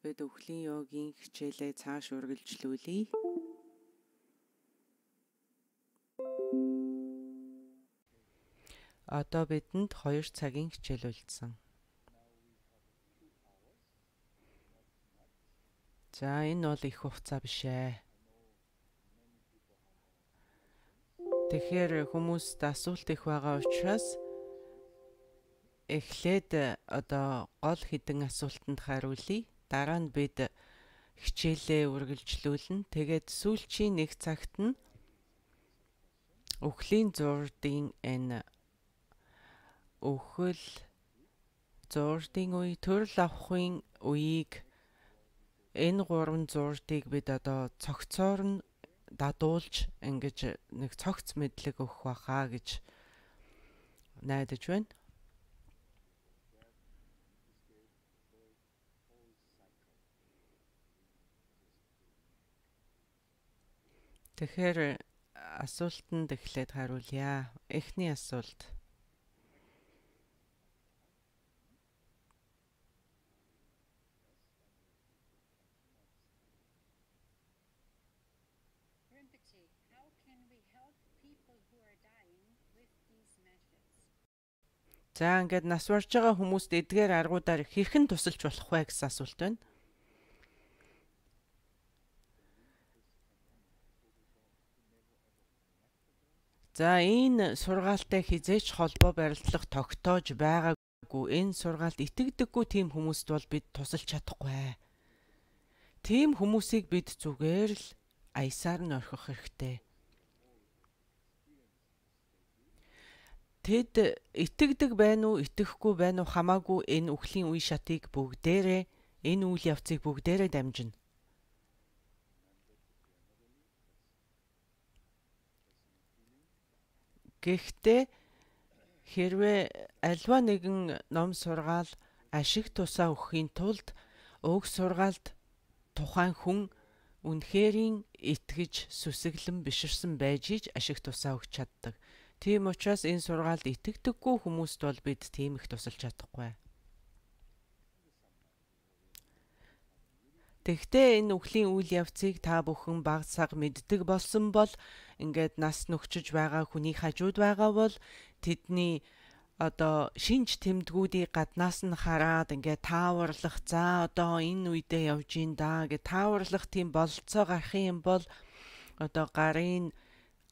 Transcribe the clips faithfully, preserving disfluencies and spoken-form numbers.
Бид өвхлийн йогийн хичээлээ цааш үргэлжлүүлье. Одоо бидэнд хоёр цагийн хичээл үлдсэн. За энэ бол их хугацаа биш ээ. Тэгэхээр хүмүүст асуулт их байгаа учраас эхлээд одоо гол хэдэн асуултанд хариулъя. Дараа нь бид хичээлээ үргэлжлүүлнэ. Тэгээд сүүлчийн нэг цагт нь өвхлийн зурдын энэ өвхөл зурдын үе, төрөл авахын үеийг энэ гурван зурдыг бид одоо цогцоор нь дадуулж ингэж нэг цогц мэдлэг өгөх байхаа гэж найдаж байна. Тэгэхээр асуултанд эхлээд хариулъя. Эхний асуулт. Rinpoche, how can we help people who are dying with these methods? За ингээд нас барж байгаа хүмүүст эдгээр аргуудаар хэрхэн тусалж болох вэ гэсэн асуулт байна. За энэ сургаалтай хизээч холбоо барилдлах тогтоож байгаагүй. Энэ сургаалт итгэдэггүй тийм хүмүүст бол бид тусалж чадахгүй. Тийм хүмүүсийг бид зүгээр л аясаар нь орхих хэрэгтэй. Тэд итгэдэг байна уу, итгэхгүй байна уу хамаагүй энэ үхлийн үе шатыг бүгдээрээ, энэ үйл явцыг бүгдээрээ дамжина. Гэхдээ хэрвээ альва нэгэн ном сургаал ашиг тусаа өгөхийн тулд уг сургаалд тухайн хүн үнэхэрийн итгэж сүсэглэн биширсэн байж ич ашиг тусаа өгч чаддаг. Тийм учраас энэ сургаалд итгэдэггүй хүмүүст бол бид тийм их тусалж чадахгүй. Тэгвэл энэ үхлийн үйл явцыг та бүхэн бага цаг мэддэг болсон бол ингээд нас нөхчөж байгаа хүний хажууд байгаа бол тэдний одоо шинж тэмдгүүдийг гаднаас нь хараад ингээд тааварлах за одоо энэ үедээ явж ин да гэж тааварлах тийм бололцоо гарах юм бол одоо гарын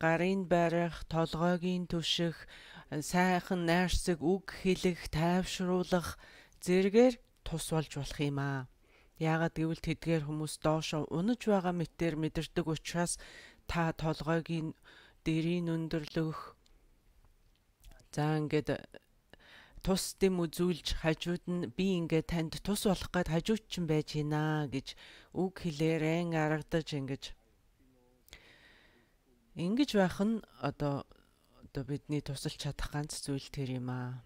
гарын барих, толгойгийн түших, сайхан найрсаг үг хэлэх, тайвшруулах зэргээр тус болж болох юм аа. Яагаад гэвэл тэдгээр хүмүүс доошо унаж байгаа мэтээр мэдэрдэг учраас та толгойгийн дэрийн өндөрлөх за ингээд тус дэм үзүүлж хажууд нь би ингээд танд тус болох гээд хажууд ч юм байж гинэ гэж үг хэлээрэн аргадаж ингэж ингэж байх нь одоо одоо бидний тусалж чадах ганц зүйл тэр юм аа.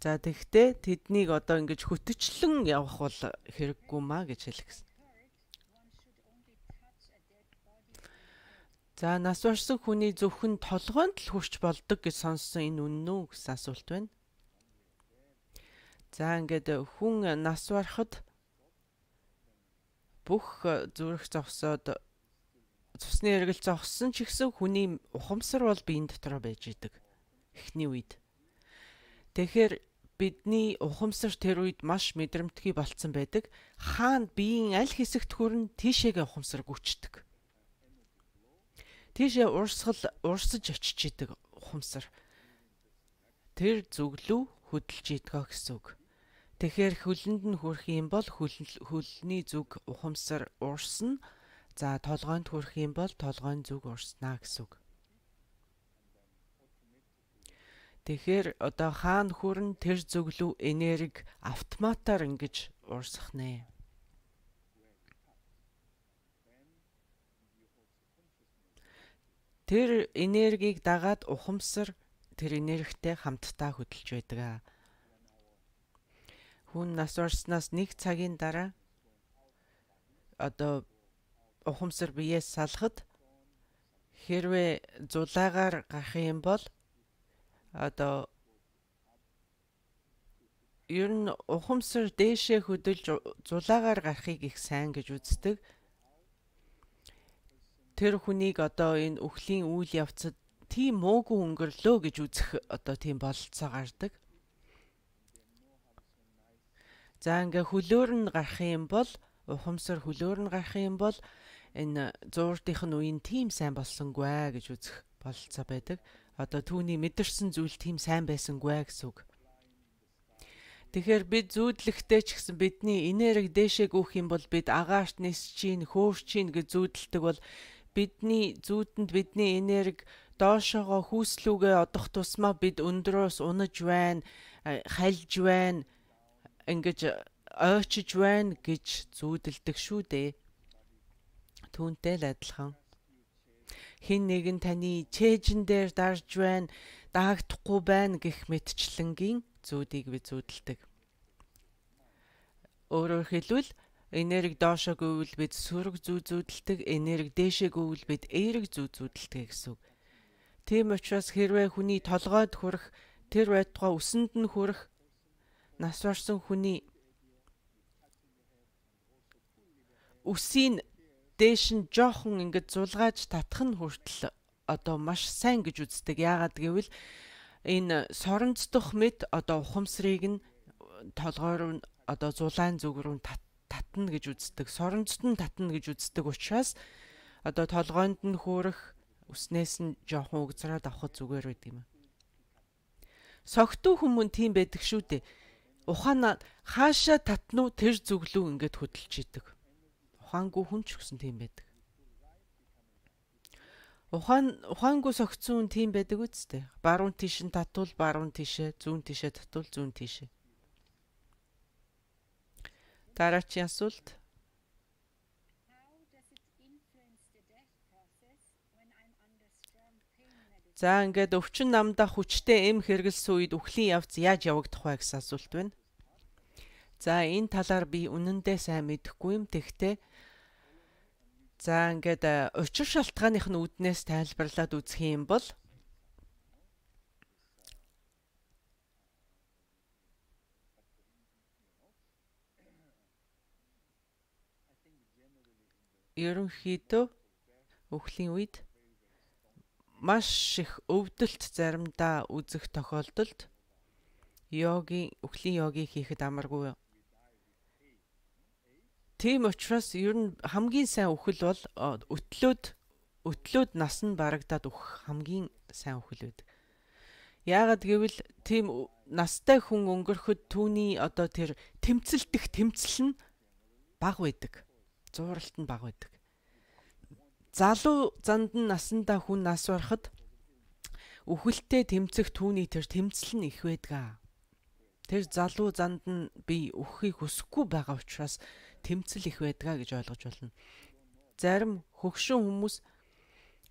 За тэгтээ тэднийг одоо ингэж хөтөчлөн явах бол хэрэггүй маа гэж хэлсэн. За нас барсан хүний зөвхөн толгойд л хүрч болдог гэж сонссон энэ үнэн үү гэсэн асуулт байна. За ингээд хүн нас барахад бүх зүрх зогсоод цусны эргэл зогссон ч гэсэн хүний ухамсар бол биеийн дотор байж идэг эхний үед. Тэгэхээр бидний ухамсар тэр үед маш мэдрэмтгий болцсон байдаг. Хаана биеийн аль хэсэгт хүрэн тийшээгээ ухамсар гүйцэтгэг. Тийшээ урсгал урсаж очиж идэг ухамсар. Тэр зүглүү хөдөлж идэгөө гэсэн үг. Тэгэхээр хөлөнд нь хүрэх юм бол хөлний зүг ухамсар урсна. За толгойд хүрэх юм бол толгойн зүг урснаа гэсэн үг. Тэгэхээр одоо хаана хүрэн тэр зөвлөө энерги автоматар ингэж урсах нэ. Тэр энергийг дагаад ухамсар тэр энергитэй хамтдаа хөдөлж байдаг. Хүн нас барснаас нэг цагийн дараа одоо ухамсар биеэс салахад хэрвээ зулаагаар гарах юм бол одоо ер нь ухамсар дээшээ хөдөлж зулаагаар гарахыг их сайн гэж үздэг. Тэр хүнийг одоо энэ үхлийн үйл явцад тийм муугүй өнгөрлөө гэж үзэх одоо тийм бололцоо гардаг. За ингээ хөлөөр нь гарах юм бол ухамсар хөлөөр нь гарах юм бол энэ зууртынх нь үеийн тийм сайн болсонгүй аа гэж үзэх бололцоо байдаг. Одоо түүний мэдэрсэн зүйл тийм сайн байсангүй аа гэсэн үг. Тэгэхээр бид зүүдлэхтэй ч гэсэн бидний энерги дээшээ гүйх юм бол бид агаарт нис чинь, хөөрч чинь гэж зүүдэлдэг бол бидний зүүдэнд бидний энерги доошоогоо хүүслүүгээ одох тусмаа бид өндрөөс унаж байна, хальж байна, ингэж ойчиж байна гэж зүүдэлдэг шүү дээ. Түүнтэй л адилхан. Хин нэгэн таны чэйжэн дээр дарж байна, даагдахгүй байна гэх мэтчлэнгийн зүүдийг бид зүүдэлдэг. Өөрөөр хэлбэл энерги доошоо гүйвэл бид сөрөг зүү зүүдэлдэг, энерги дээшээ гүйвэл бид эерэг зүү зүүдэлдэг гэсэн үг. Тийм учраас хэрвээ хүний толгойд хүрэх, тэр байтугай үсэнд нь хүрэх нас барсан хүний үсийн дээш нь жоохон ингэж зулгааж татах нь хүртэл одоо маш сайн гэж үздэг. Яагаад гэвэл энэ соронцдох мэд одоо ухамсарыг нь толгойр нь одоо зулаан зүг рүү татна гэж үздэг. Соронцод нь татна гэж үздэг учраас одоо толгойд нь хөөрөх үснээс нь жоохон угзраад авах зүгээр байд юм. Согтуу хүмүүс тийм байдаг шүү дээ. Ухаанаа хаашаа татна уу тэр зүглүү ингээд хөдөлж идэг. Ухаангүй хүн ч гэсэн тийм байдаг. Ухаан ухаангүй согцсон хүн тийм байдаг үсттэй. Баруун тийш нь татвал баруун тийшээ, зүүн тийшээ татвал зүүн тийшээ. Дараагийн асуулт. За ингээд өвчин намдаа хүчтэй эм хэрэгэлсэн үед үхлийн явц яаж явагдах вэ гэсэн асуулт байна. За энэ талаар би үнэндээ сайн мэдэхгүй юм. Тэгтээ за ингээд учир шалтгааных нь үүднээс тайлбарлаад үзэх юм бол ерөнхийдөө үхлийн үед маш их өвдөлт заримдаа үзэх тохиолдолд йогийн үхлийн йогийг хийхэд амаргүй. Тийм учраас ер нь хамгийн сайн үхэл бол өтлөөд өтлөөд нас нь барагдаад үхэх хамгийн сайн үхэл байдаг. Яагаад гэвэл тийм настай хүн өнгөрөхөд түүний одоо тэр тэмцэлдэх тэмцэл нь бага байдаг. Зууралт нь бага байдаг. Залуу занд нь насандаа хүн нас барахад үхэлтэй тэмцэх түүний тэр тэмцэл нь их байдаг. Тэр залуу занд нь би үххийг хүсэхгүй байгаа учраас тэмцэл их байдгаа гэж ойлгож болно. Зарим хөгшин хүмүүс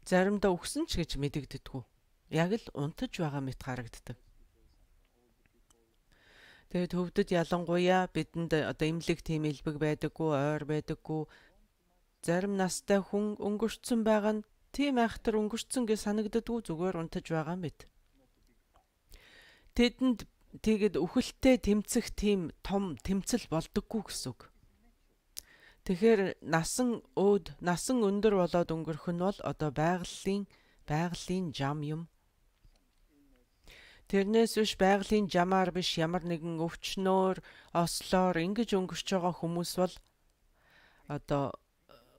заримдаа үхсэн ч гэж мэдэгддэггүй. Яг л унтаж байгаа мэт харагддаг. Тэгээд хөвдөд ялангуяа бидэнд одоо имлэг тийм элбэг байдаггүй, ойр байдаггүй. Зарим настай хүн өнгөрцөн байгаа нь тийм айхтар өнгөрцөн гэж санагддаггүй, зүгээр унтаж байгаа мэт. Тэдэнд тэгээд үхэлтэй тэмцэх тийм том тэмцэл болдоггүй гэсэн үг. Тэгэхээр насан өөд, насан өндөр болоод өнгөрөх нь бол одоо байгалийн байгалийн жам юм. Тэрнээс биш байгалийн жамаар биш ямар нэгэн өвчнөөр, ослоор ингэж өнгөрч байгаа хүмүүс бол одоо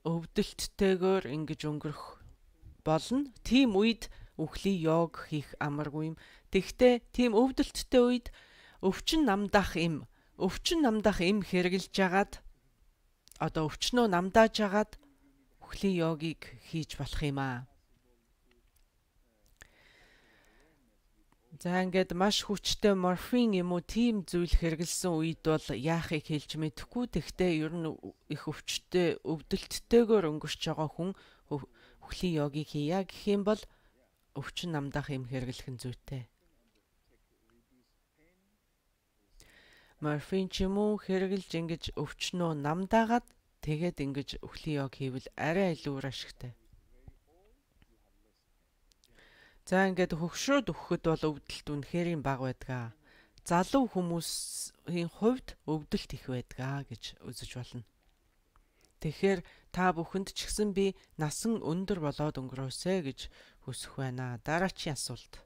өвдөлттэйгээр ингэж өнгөрөх болно. Тийм үед үхлийн йог хийх амаргүй юм. Тэгвэл тийм өвдөлттэй үед өвчин намдах эм, өвчин намдах эм хэрэгжилж агаад одоо өвчнөө намдааж агаад үхлийн йогийг хийж болох юм аа. За ингээд маш хүчтэй морфин юм уу тийм зүйл хэрэгэлсэн үед бол яахыг хэлж мэдэхгүй. Тэгтээ ер нь их өвчтэй өвдөлттэйгээр өнгөрч байгаа хүн үхлийн йогийг хийя гэх юм бол өвчин намдах юм хэрэглэх нь зүйтэй. Морфин ч юм уу хэрэгэлж ингэж өвчнөө намдаагаад тэгээд ингэж үхлийн йог хийвэл арай илүү ашигтай. За ингээд хөгшрөөд өгөхөд бол өвдөлт үнэхээр бага байдаг. Залуу хүмүүсийн хувьд өвдөлт их байдаг гэж үзэж болно. Тэгэхээр та бүхэнд ч гэсэн би насан өндөр болоод өнгөрөөсэй гэж хүсэх байна. Дараачийн асуулт.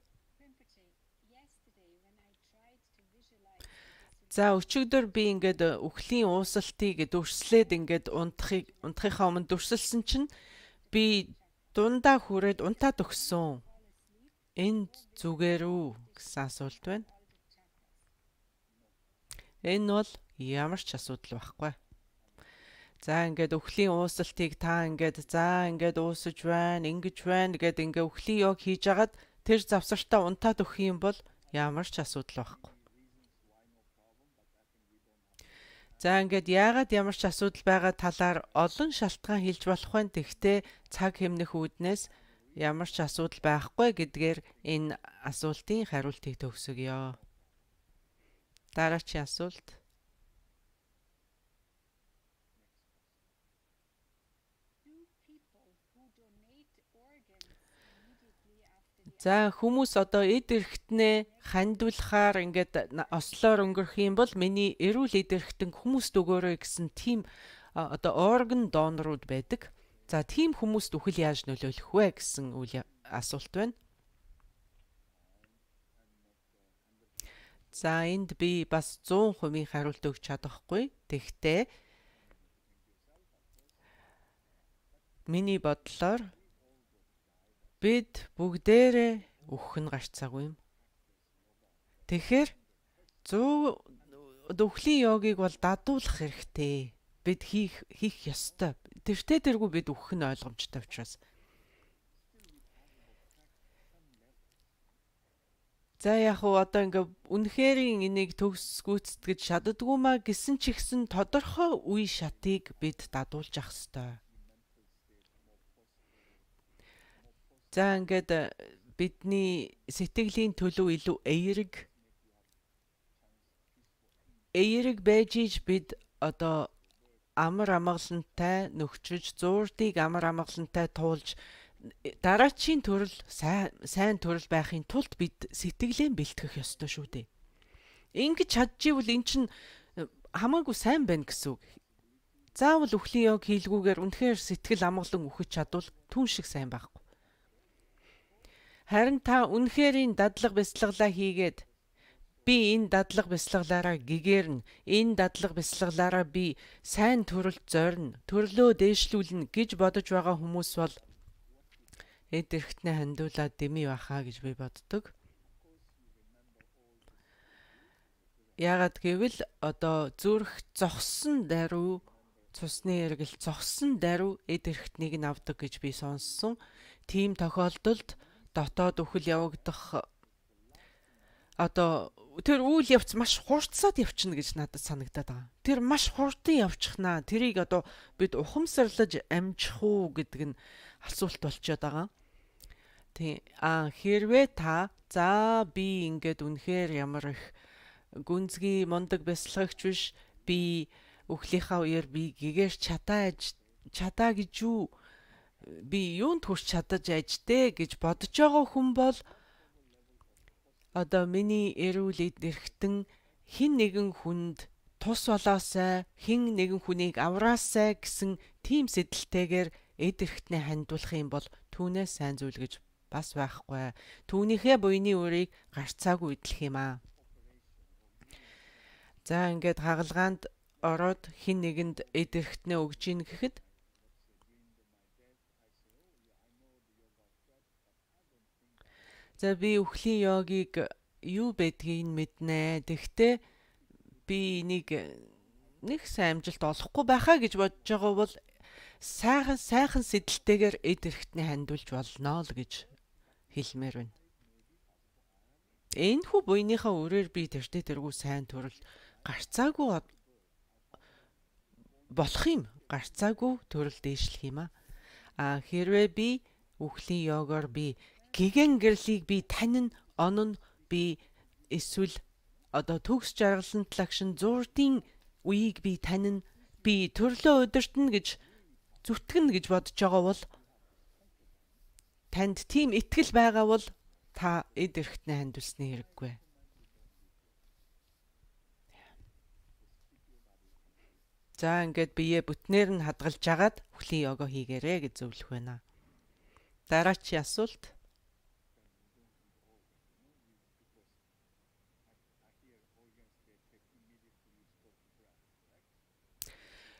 За өчигдөр би ингээд үхлийн уусалтыг дүрслээд ингээд унтахыг унтахынхаа өмнө дүрсэлсэн чинь би дундаа хүрээд унтаад өгсөн. Энэ зүгээр үү гэсэн асуулт байна. Энэ бол ямар ч асуудал байхгүй. За ингээд үхлийн уусалтыг та ингээд за ингээд уусаж байна, ингэж байна гэд ингээд үхлийн йог хийж агаад тэр завсартаа унтаад өгөх юм бол ямар ч асуудал байхгүй. За ингээд яагаад ямар ч асуудал байгаа талаар олон шалтгаан хэлж болох байна. Тэгвэл цаг хэмнэх үүднээс ямар ч асуудал байхгүй гэдгээр энэ асуултын хариултыг төгсгөё. Дараачийн асуулт. За хүмүүс одоо эд эрхтнээ хандуулахаар ингээд ослоор өнгөрөх юм бол миний эрүүл эд эрхтэн хүмүүст өгөөрэй гэсэн тийм одоо орган донорууд байдаг. За тийм хүмүүст үхэл яаж нөлөөлөх вэ гэсэн үйл асуулт байна. За энд би бас зуун хувийн хариулт өгч чадахгүй. Тэгтээ миний бодлоор бид бүгдээрээ үхэх нь гарцаагүй юм. Тэгэхээр зүү үхлийн йогыг бол дадуулах хэрэгтэй. Бид хийх хийх ёстой. Тэртээ тэргүй бид үхэх нь ойлгомжтой учраас. За яг уу одоо ингээ үнэхээр энийг төгс гүйцэтгэж чаддгүй маа гэсэн ч ихсэн тодорхой үе шатыг бид дадуулж ах ёстой. За ингээд бидний сэтгэлийн төлөв илүү эерэг эерэг байж иж бид одоо амар амгалантай нөхчөж зуурдыг амар амгалантай туулж дараачийн төрөл сайн сайн төрөл байхын тулд бид сэтгэлээ бэлтгэх ёстой шүү дээ. Ингэж чадчихвэл эн чинь хамаагүй сайн байна гэсэн үг. Заавал үхлийн йог хийлгүүгээр үнэхээр сэтгэл амгалан үхэж чадвал түн шиг сайн байхгүй. Харин та үнэхээр энэ дадлага бяцлаглаа хийгээд би энэ дадлага бяцлаглаараа гэгэрнэ, энэ дадлага бяцлаглаараа би сайн төрөлд зорино, төрлөө дээшлүүлнэ гэж бодож байгаа хүмүүс бол эд эрхтнээ хандуулаад дэмий бахаа гэж би боддог. Яагаад гэвэл одоо зүрх зогссон даруй цусны эргэл зогссон даруй эд эрхтнийг нь авдаг гэж би сонссон. Тийм тохиолдолд дотоод үхэл явагдах одоо тэр үйл явц маш хурцсаад явчихна гэж надад санагдаад байгаа. Тэр маш хурдан явчихнаа. Тэрийг одоо бид ухамсарлаж амжих уу гэдэг нь асуулт болчиход байгаа. Тий а хэрвээ та за би ингээд үнэхээр ямар их гүнзгий мундаг бясалгагч биш би үхлийнхаа үеэр би гэгээр чатааж чатаа гэж юу би юунд хүрч чадаж ажтэй гэж бодож байгаа хүн бол одоо миний эрүүл эд эрхтэн хин нэгэн хүнд тус болоосай хин нэгэн хүнийг авраасай гэсэн тийм сэдэлтэйгээр эд эрхтнээ хандуулах юм бол түүнээс сайн зүйл гэж бас байхгүй. Түүнийхээ буйны үрийг гарцаагүй идэх юм аа. За ингээд хагалгаанд ороод хин нэгэнд эд эрхтнээ өгж ийн гэхэд за би үхлийн йогийг юу байдгийг мэднэ. Тэгтээ би нэг нэг сайн амжилт олохгүй байхаа гэж бодож байгаа бол сайхан сайхан сэдэлтэйгээр эд эрхтнээ хандуулж болно л гэж хэлмээр байна. Энэхүү буйныхаа үрээр би тэртээ тэргүй сайн төрөл гарцаагүй болох юм. Гарцаагүй төрөл дээшлэх юм аа. А хэрвээ би үхлийн йогоор би гэгэн гэрлийг би танин онон би эсвэл одоо төгс жаргалан талагшин зуурдын үеийг би танин би төрлөө өдөртнө гэж зүтгэн гэж бодож байгаа бол танд тийм итгэл байгаа бол та эд эрхтний хандвалсны хэрэггүй. За ингээд бие бүтнээр нь хадгалж агаад өхлийн йога хийгээрэй гэж зөвлөх байна. Дараачийн асуулт.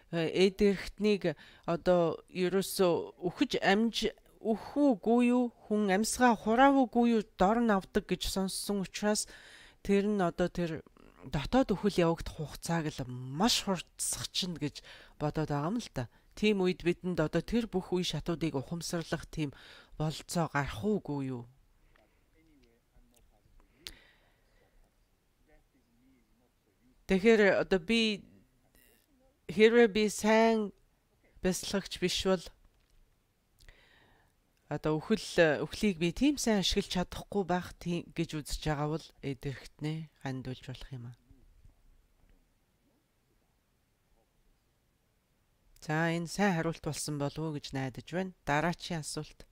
Эд эрхтнийг одоо ерөөсөө үхэж амж үхвүгүй юу хүн амьсгаа хураавгүй юу дор нь авдаг гэж сонссон учраас тэр нь одоо тэр дотоод өхөл явагдах хугацааг л маш хурцсах чинь гэж бодоод байгаа юм л та. Тийм үед бидэнд одоо тэр бүх үе шатуудыг ухамсарлах тийм болцоо гарах уугүй юу? Тэгэхээр одоо би хэрвээ би сайн бясалгагч биш бол одоо өхөл өхлийг би тийм сайн ашиглаж чадахгүй байх тийм гэж үзэж байгаа бол эд эрхтнээ хандуулж болох юм аа. За энэ сайн хариулт болсон болов уу гэж найдаж байна. Дараачийн асуулт.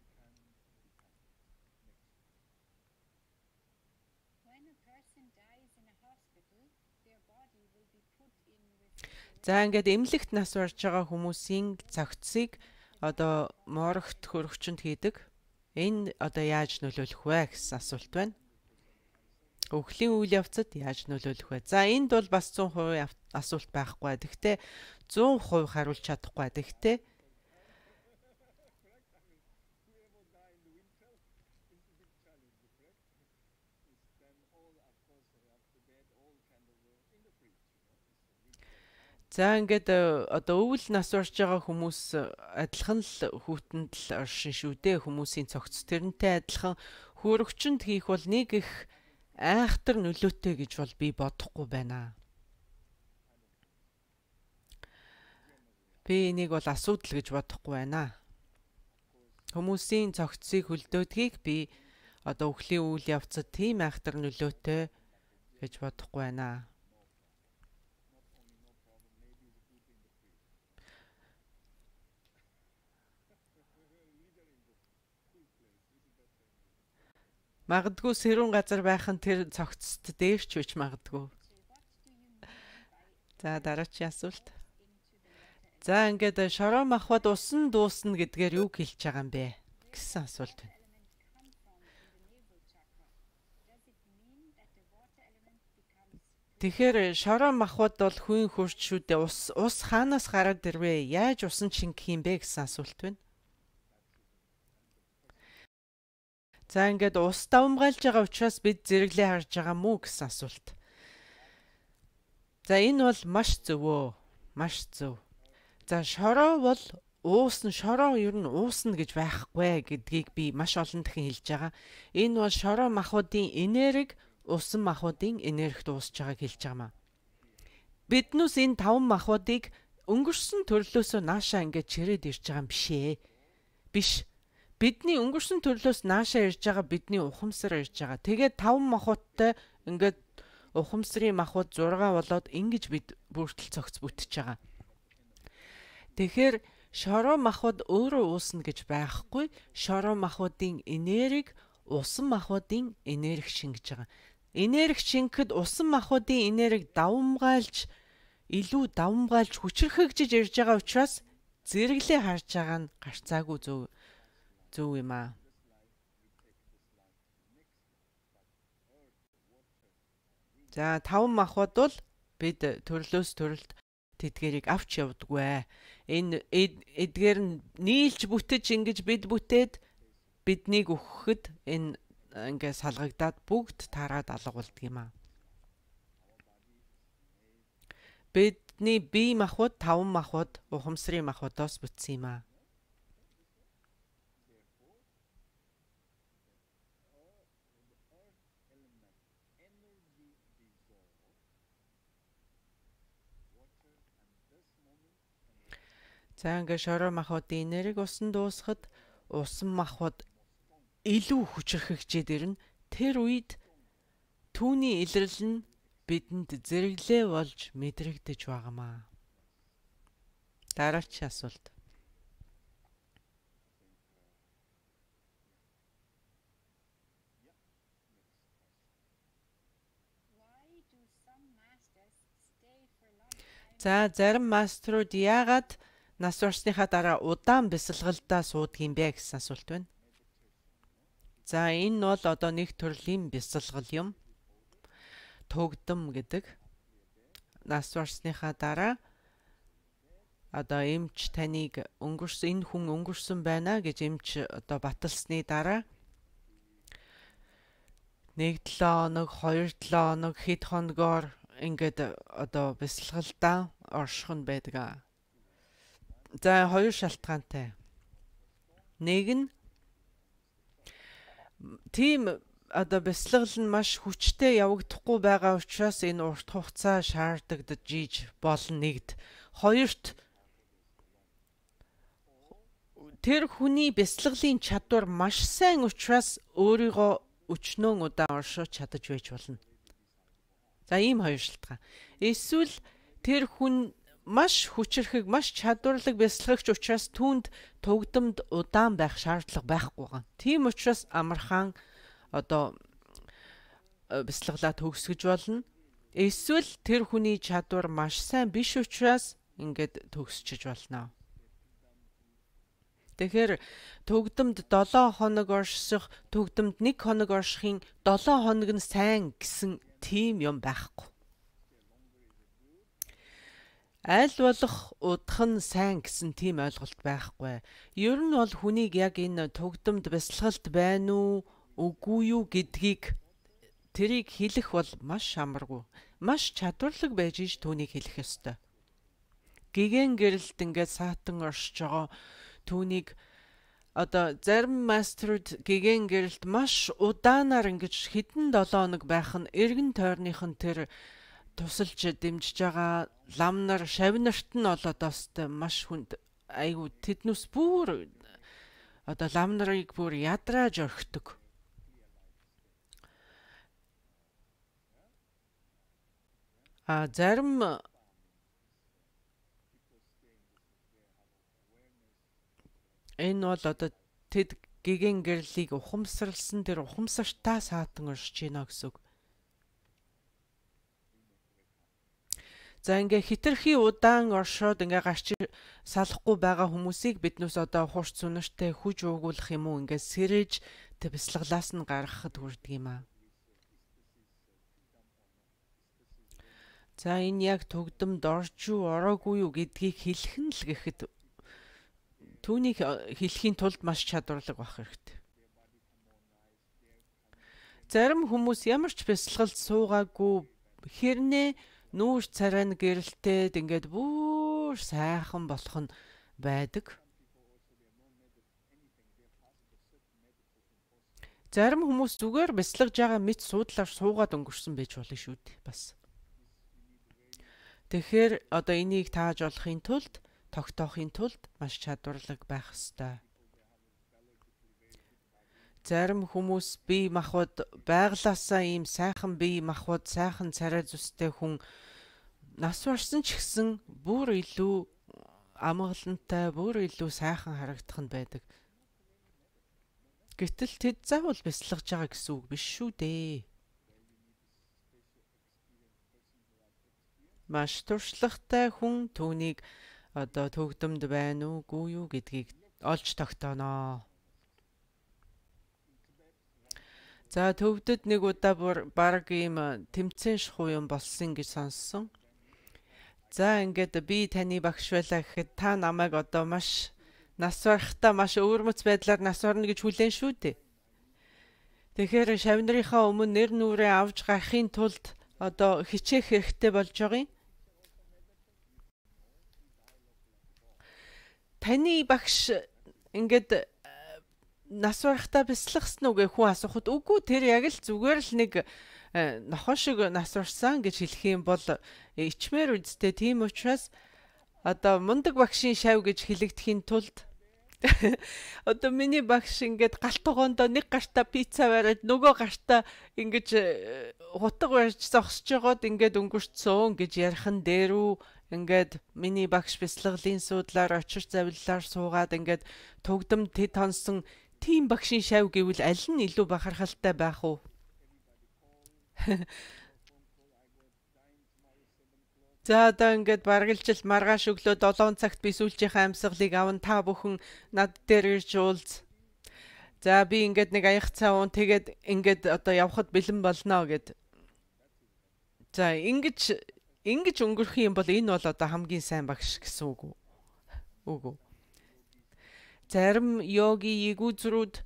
За ингээд эмнэлэгт нас барж байгаа хүмүүсийн цогцсыг одоо морогт хөрөгчөнд хийдэг. Энэ одоо яаж нөлөөлөх вэ гэсэн асуулт байна. Өхлийн үйл явцад яаж нөлөөлөх вэ? За энд бол бас зуун хувийн асуулт байхгүй. Тэгвэл зуун хувь хариулж чадахгүй. Тэгвэл за ингээд одоо өвөл нас барж байгаа хүмүүс адилхан л хүүтэнд л оршин шүү дээ. Хүмүүсийн цогц тэрнтэй адилхан хөрөгчөнд хийх бол нэг их айхтар нөлөөтэй гэж бол би бодохгүй байна. Би энийг бол асуудал гэж бодохгүй байна. Хүмүүсийн цогцсыг хөлдөөдгийг би одоо өхлийн үйл явцад тийм айхтар нөлөөтэй гэж бодохгүй байна. Магадгүй сэрүүн газар байх нь тэр цогцт дээрч үуч магадгүй. За дараачийн асуулт. За ингээд шороо махбод усан дуусна гэдгээр юу хэлж байгаа юм бэ гэсэн асуулт байна. Тэгэхээр шороо махбод бол хүн хурж шүү дээ. Ус ус хаанаас гараад ирвэ? Яаж усан шингэх юм бэ гэсэн асуулт байна. За ингээд ус давмгайлж байгаа учраас бид зэрэглээ харж байгаа мүү гэсэн асуулт. За энэ бол маш зөвөө. Маш зөв. За шороо бол уусна, шороо ер нь уусна гэж байхгүй гэдгийг би маш олон дахин хэлж байгаа. Энэ бол шороо махбодын энерги усан махбодын энергид уусж байгааг хэлж байгаа маа. Биднээс энэ таван махбодыг өнгөрсөн төрлөөсөө наашаа ингээд чирээд ирж байгаа юм бишээ. Биш. Бидний өнгөрсөн төрлөөс наашаа ирж байгаа бидний ухамсар ирж байгаа. Тэгээд таван махбодтой ингээд ухамсарын махбод зураг болоод ингэж бид бүртэл цогц бүтэж байгаа. Тэгэхээр шороо махбод өөрөө уусна гэж байхгүй. Шороо махбодын энерги усан махбодын энерги шингэж байгаа. Энерги шингэхэд усан махбодын энерги давмгайлж илүү давмгайлж хүчрхэгжиж ирж байгаа учраас зэрэглээ харж байгаа нь гарцаагүй зөв зөв юм аа. За таван махбод бол бид төрлөөс төрөлд тэдгэрийг авч явдаггүй. Энэ эдгээр нь нийлж бүтэж ингэж бид бүтээд биднийг өгөхөд энэ ингээ салгагдаад бүгд тараад алга болдг юм аа. Бидний бие махбод таван махбод ухамсарын махбодоос бүтсэн юм аа. За ингээ шороо махбодын энерги усан дуусахад усан махбод илүү хүчрхэгжээд ирнэ. Тэр үед түүний илрэл нь бидэнд зэрэглээ болж мэдрэгдэж байгаамаа. Дараагийн асуулт. За зарим маструуд яагаад нас барсныхаа дараа удаан бясалгалдаа суудгийм бэ гэсэн асуулт байна. За энэ бол одоо нэг төрлийн бясалгал юм. Тугдам гэдэг. Нас барсныхаа дараа одоо эмч таныг өнгөрсөн энэ хүн өнгөрсөн байна гэж эмч одоо баталсны дараа нэг долоо хоног, хоёр долоо хоног хэд хоногоор ингээд одоо бясалгалдаа орших нь байдаг. За хоёр шалтгаантай. Нэг нь тийм одоо бясалгал нь маш хүчтэй явагдахгүй байгаа учраас энэ урт хугацаа шаардагдаж болно нэгд. Хоёрт тэр хүний бясалгалын чадвар маш сайн учраас өөрийгөө өчнөө удаан оршиж чадаж байж болно. За ийм хоёр шалтгаан. Эсвэл тэр хүн маш хүчрхэг, маш чадварлаг бясалгагч учраас түүнд тугдамд удаан байх шаардлага байхгүй гэн. Тийм учраас амархан одоо бясалгалаа төгсгөж болно. Эсвэл тэр хүний чадвар маш сайн биш учраас ингээд төгсчиж болно. Тэгэхээр төгдөмд долоо хоног орших, төгдөмд нэг хоног оршихын долоо хоног нь сайн гэсэн тийм юм байхгүй. Аль болох удах нь сайн гэсэн тийм ойлголт байхгүй. Ер нь бол хүнийг яг энэ төгдөмд бясалгалд байна уу, үгүй юу гэдгийг тэрийг хэлэх бол маш амаргүй. Маш чадварлаг байж иж түүнийг хэлэх ёстой. Гэгэн гэрэлт ингээд саатан оршиж байгаа түүнийг одоо зарим маструуд гэгэн гэрэлт маш удаанаар ингэж хэдэн долоо хоног байх нь эргэн тойрных нь тэр тусалж дэмжиж байгаа лам нар шавнарт нь болоод бастай маш хүнд айгу тэднүс бүр одоо лам нарыг бүр ядрааж орхидог. А зарим энэ бол одоо тэд гэгэн гэрлийг ухамсарлсан тэр ухамсартаа саатан оршиж гинэ гэсэн үг. За ингээ хитрхи удаан оршоод ингээ гарч салахгүй байгаа хүмүүсийг биднээс одоо хурц сүнэртэй хүж уугуулах юм уу ингээ сэрэж тэг бясалгалаас нь гаргахад хүрдэг юм аа. За энэ яг төгдөмд орж юу ороогүй юу гэдгийг хэлэх нь л гэхэд түүнийг хэлэхийн тулд маш чадварлаг байх хэрэгтэй. Зарим хүмүүс ямар ч бясалгалд суугаагүй хэрнээ нүүр царай нь гэрэлтээд ингээд бүр сайхан болох нь байдаг. Зарим хүмүүс зүгээр бясалгаж байгаа мэт суудлаар суугаад өнгөрсөн байж болно шүү дээ бас. Тэгэхээр одоо энийг тааж болохын тулд тогтоохын тулд маш чадварлаг байх ёстой. Зарим хүмүүс бие махбод байглаасаа ийм сайхан бие махбод, сайхан царай зүстэй хүн нас барсан ч гэсэн бүр илүү амгалантай, бүр илүү сайхан харагдах нь байдаг. Гэтэл тэд заавал бясалгаж байгаа гэсэн үг биш шүү дээ. Маш туршлагатай хүн түүнийг одоо төгдөмд байна уугүй юу гэдгийг олж тогтооно. За төвдөд нэг удаа баг ийм тэмцээн шахуу юм болсон гэж сонссон. За ингээд би таны багш байлаа гэхэд та намайг одоо маш нас барахтаа маш өвөрмөц байдлаар нас барна гэж хүлээн шүү дээ. Тэгэхээр шавнарынхаа өмнө нэр нүрээ авч гарахын тулд одоо хичээх хэрэгтэй болж байгаа юм. Таны багш ингээд нас барахтаа бясалгасан уу гэх хүн асуухад үгүй тэр яг л зүгээр л нэг нохон шиг нас барсан гэж хэлэх юм бол ичмээр үсттэй. Тийм учраас одоо мундаг багшийн шав гэж хэлэгдэхийн тулд одоо миний багш ингээд галт тогоондоо нэг гартаа пицца бариад нөгөө гартаа ингэж хутга барьж зогсож байгаад ингээд өнгөрцсөн гэж ярих нь дээрүү. Ингээд миний багш бясалгалын суудлаар очир завиллаар суугаад ингээд төгдөм тэд хонсон тийм багшийн шав гэвэл аль нь илүү бахархалтай байх уу? За одоо ингээд баргалжил маргааш өглөө долоон цагт би сүүлчийнхээ амьсгалыг аван та бүхэн над дээр ирж уулз. За би ингээд нэг аяг цаа уун тэгээд ингээд одоо явхад бэлэн болно гэд. За ингэж ингэж өнгөрөх юм бол энэ бол одоо хамгийн сайн багш гэсэн үг үү? Үгүй. Зарим йоги ягүүзрүүд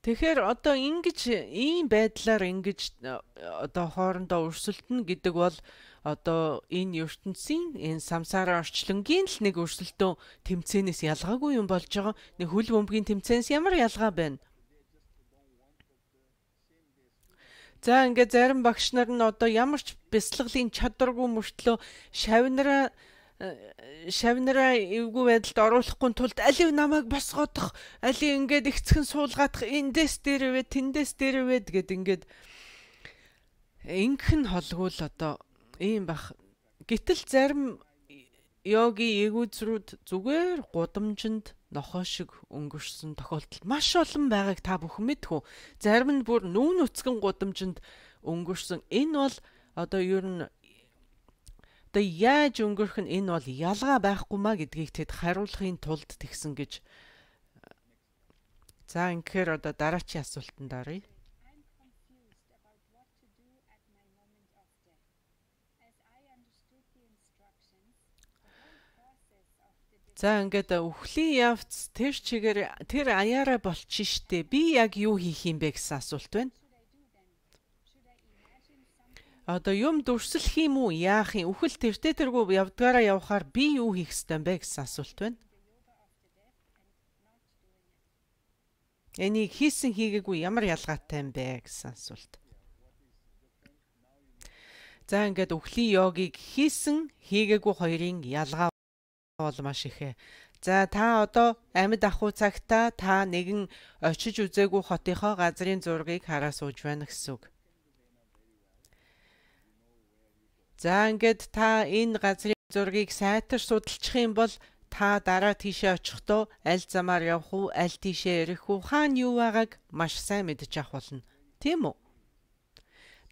тэгэхээр одоо ингэж ийм байдлаар ингэж одоо хоорондоо өрсөлдөнө гэдэг бол одоо энэ ертөнцийн энэ самсара орчлонгийн л нэг өрсөлдөөн тэмцээнээс ялгаагүй юм болж байгаа. Нэг хөл бөмбөгийн тэмцээнээс ямар ялгаа байна? За ингээд зарим багш нар нь одоо ямар ч бяцлаглалын чадваргүй мөртлөө шавнараа шавнараа эвгүй байдалд оруулахгүй тулд алив намайг босгоодох, алив ингээд ихцхэн суулгаадах, эндээс дээр вэ, тэндээс дээр вэ гэд ингээд ингэн холгуул одоо ийм бах. Гэтэл зарим йоги ягүүзрүүд зүгээр гудамжинд нохоо шиг өнгөрсөн тохиолдол маш олон байгааг та бүхэн мэдхүү. Зарим нь бүр нүүн нүцгэн гудамжинд өнгөрсөн. Энэ бол одоо ер нь одоо яаж өнгөрөх нь энэ бол ялгаа байхгүй маа гэдгийг тэд хариулахын тулд тэгсэн гэж. За ингэхээр одоо дараачийн асуултанд оръё. I'm confused about what to do at my moment of death. As I understood the instructions, the whole process of the За ингээд өвхлийн явц тэр чигээр тэр аяараа болчих штэ. Би яг юу хийх юм бэ гэсэн асуулт байна. should I do then? Should I imagine something Одоо юм дүрслэх юм уу? Яах юм? Үхэл тэртээ тэргүй явдгаараа явхаар би юу хийх ёстой юм бэ гэсэн асуулт байна. the yoga of the death and not doing it? Энийг хийсэн хийгээгүй ямар ялгаатай юм бэ гэсэн асуулт. За ингээд өвхлийн йогийг хийсэн хийгээгүй хоёрын ялгаа бол маш ихэ. За та одоо амьд ахуй цагта та нэгэн очиж үзээгүй хотынхоо газрын зургийг хараа сууж байна гэсэн үг. За ингээд та энэ газрын зургийг сайтар судалчих юм бол та дараа тийшээ очихдоо аль замаар явах уу, аль тийшээ ирэх үү, хаана юу байгааг маш сайн мэдэж авах болно. Тийм үү?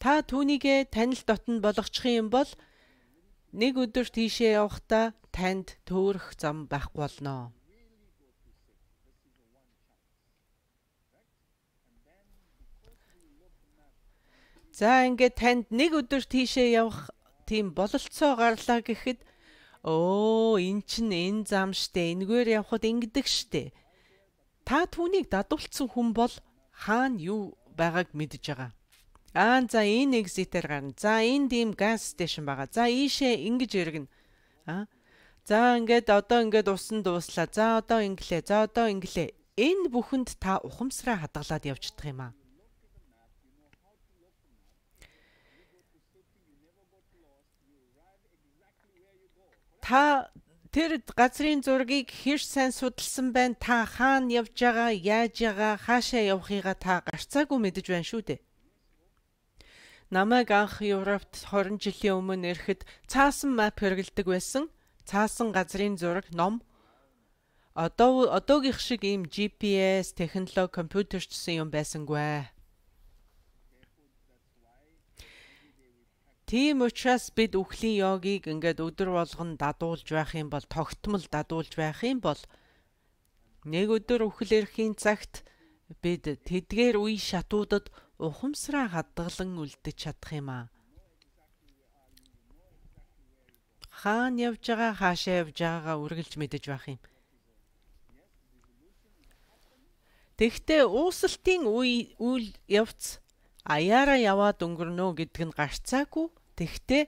Та түүнийгээ танил дотнд болгочих юм бол нэг өдөр тийшээ явахдаа танд төөрөх зам байхгүй болно. За ингээд танд нэг өдөр тийшээ явах тийм бололцоо гарлаа гэхэд өө эн чин энэ зам штэ, энэгээр явхад ингэдэг штэ. Та түүнийг дадуулсан хүн бол хаана юу байгааг мэдж байгаа. Аа за энэ экзитээр гарна. За энд ийм газ стейшн байгаа. За ийшээ ингэж иргэн. Аа. За ингээд одоо ингээд усан дууслаа. За одоо инглээ. За одоо инглээ. Энэ бүхэнд та ухамсараа хадгалаад явждах юм аа. Та тэр газрын зургийг хэр сайн судалсан байна? Та хаана явж байгаа, яаж байгаа, хаашаа явахыгаа та гарцаагүй мэдэж байна шүү дээ. Намайг анх Европт хорин жилийн өмнө ирэхэд цаасан мап хэрэглэдэг байсан. Цаасан газрын зураг ном. Одоо одоогийнх шиг ийм джи пи эс технологи компьютерчсэн юм байсангүй. Тийм учраас бид үхлийн йогийг ингээд өдөр болгон дадуулж байх юм бол, тогтмол дадуулж байх юм бол нэг өдөр үхэл ирэхийн цагт бид тэдгээр үе шатуудад ухамсараа хадгалан үлдэж чадах юм аа. Хаана явж байгаа, хаашаа явж байгаагаа үргэлж мэдэж байх юм. Тэгвэл уусалтын үе үйл явц аяараа яваад өнгөрнө гэдг нь гарцаагүй. Тэгвэл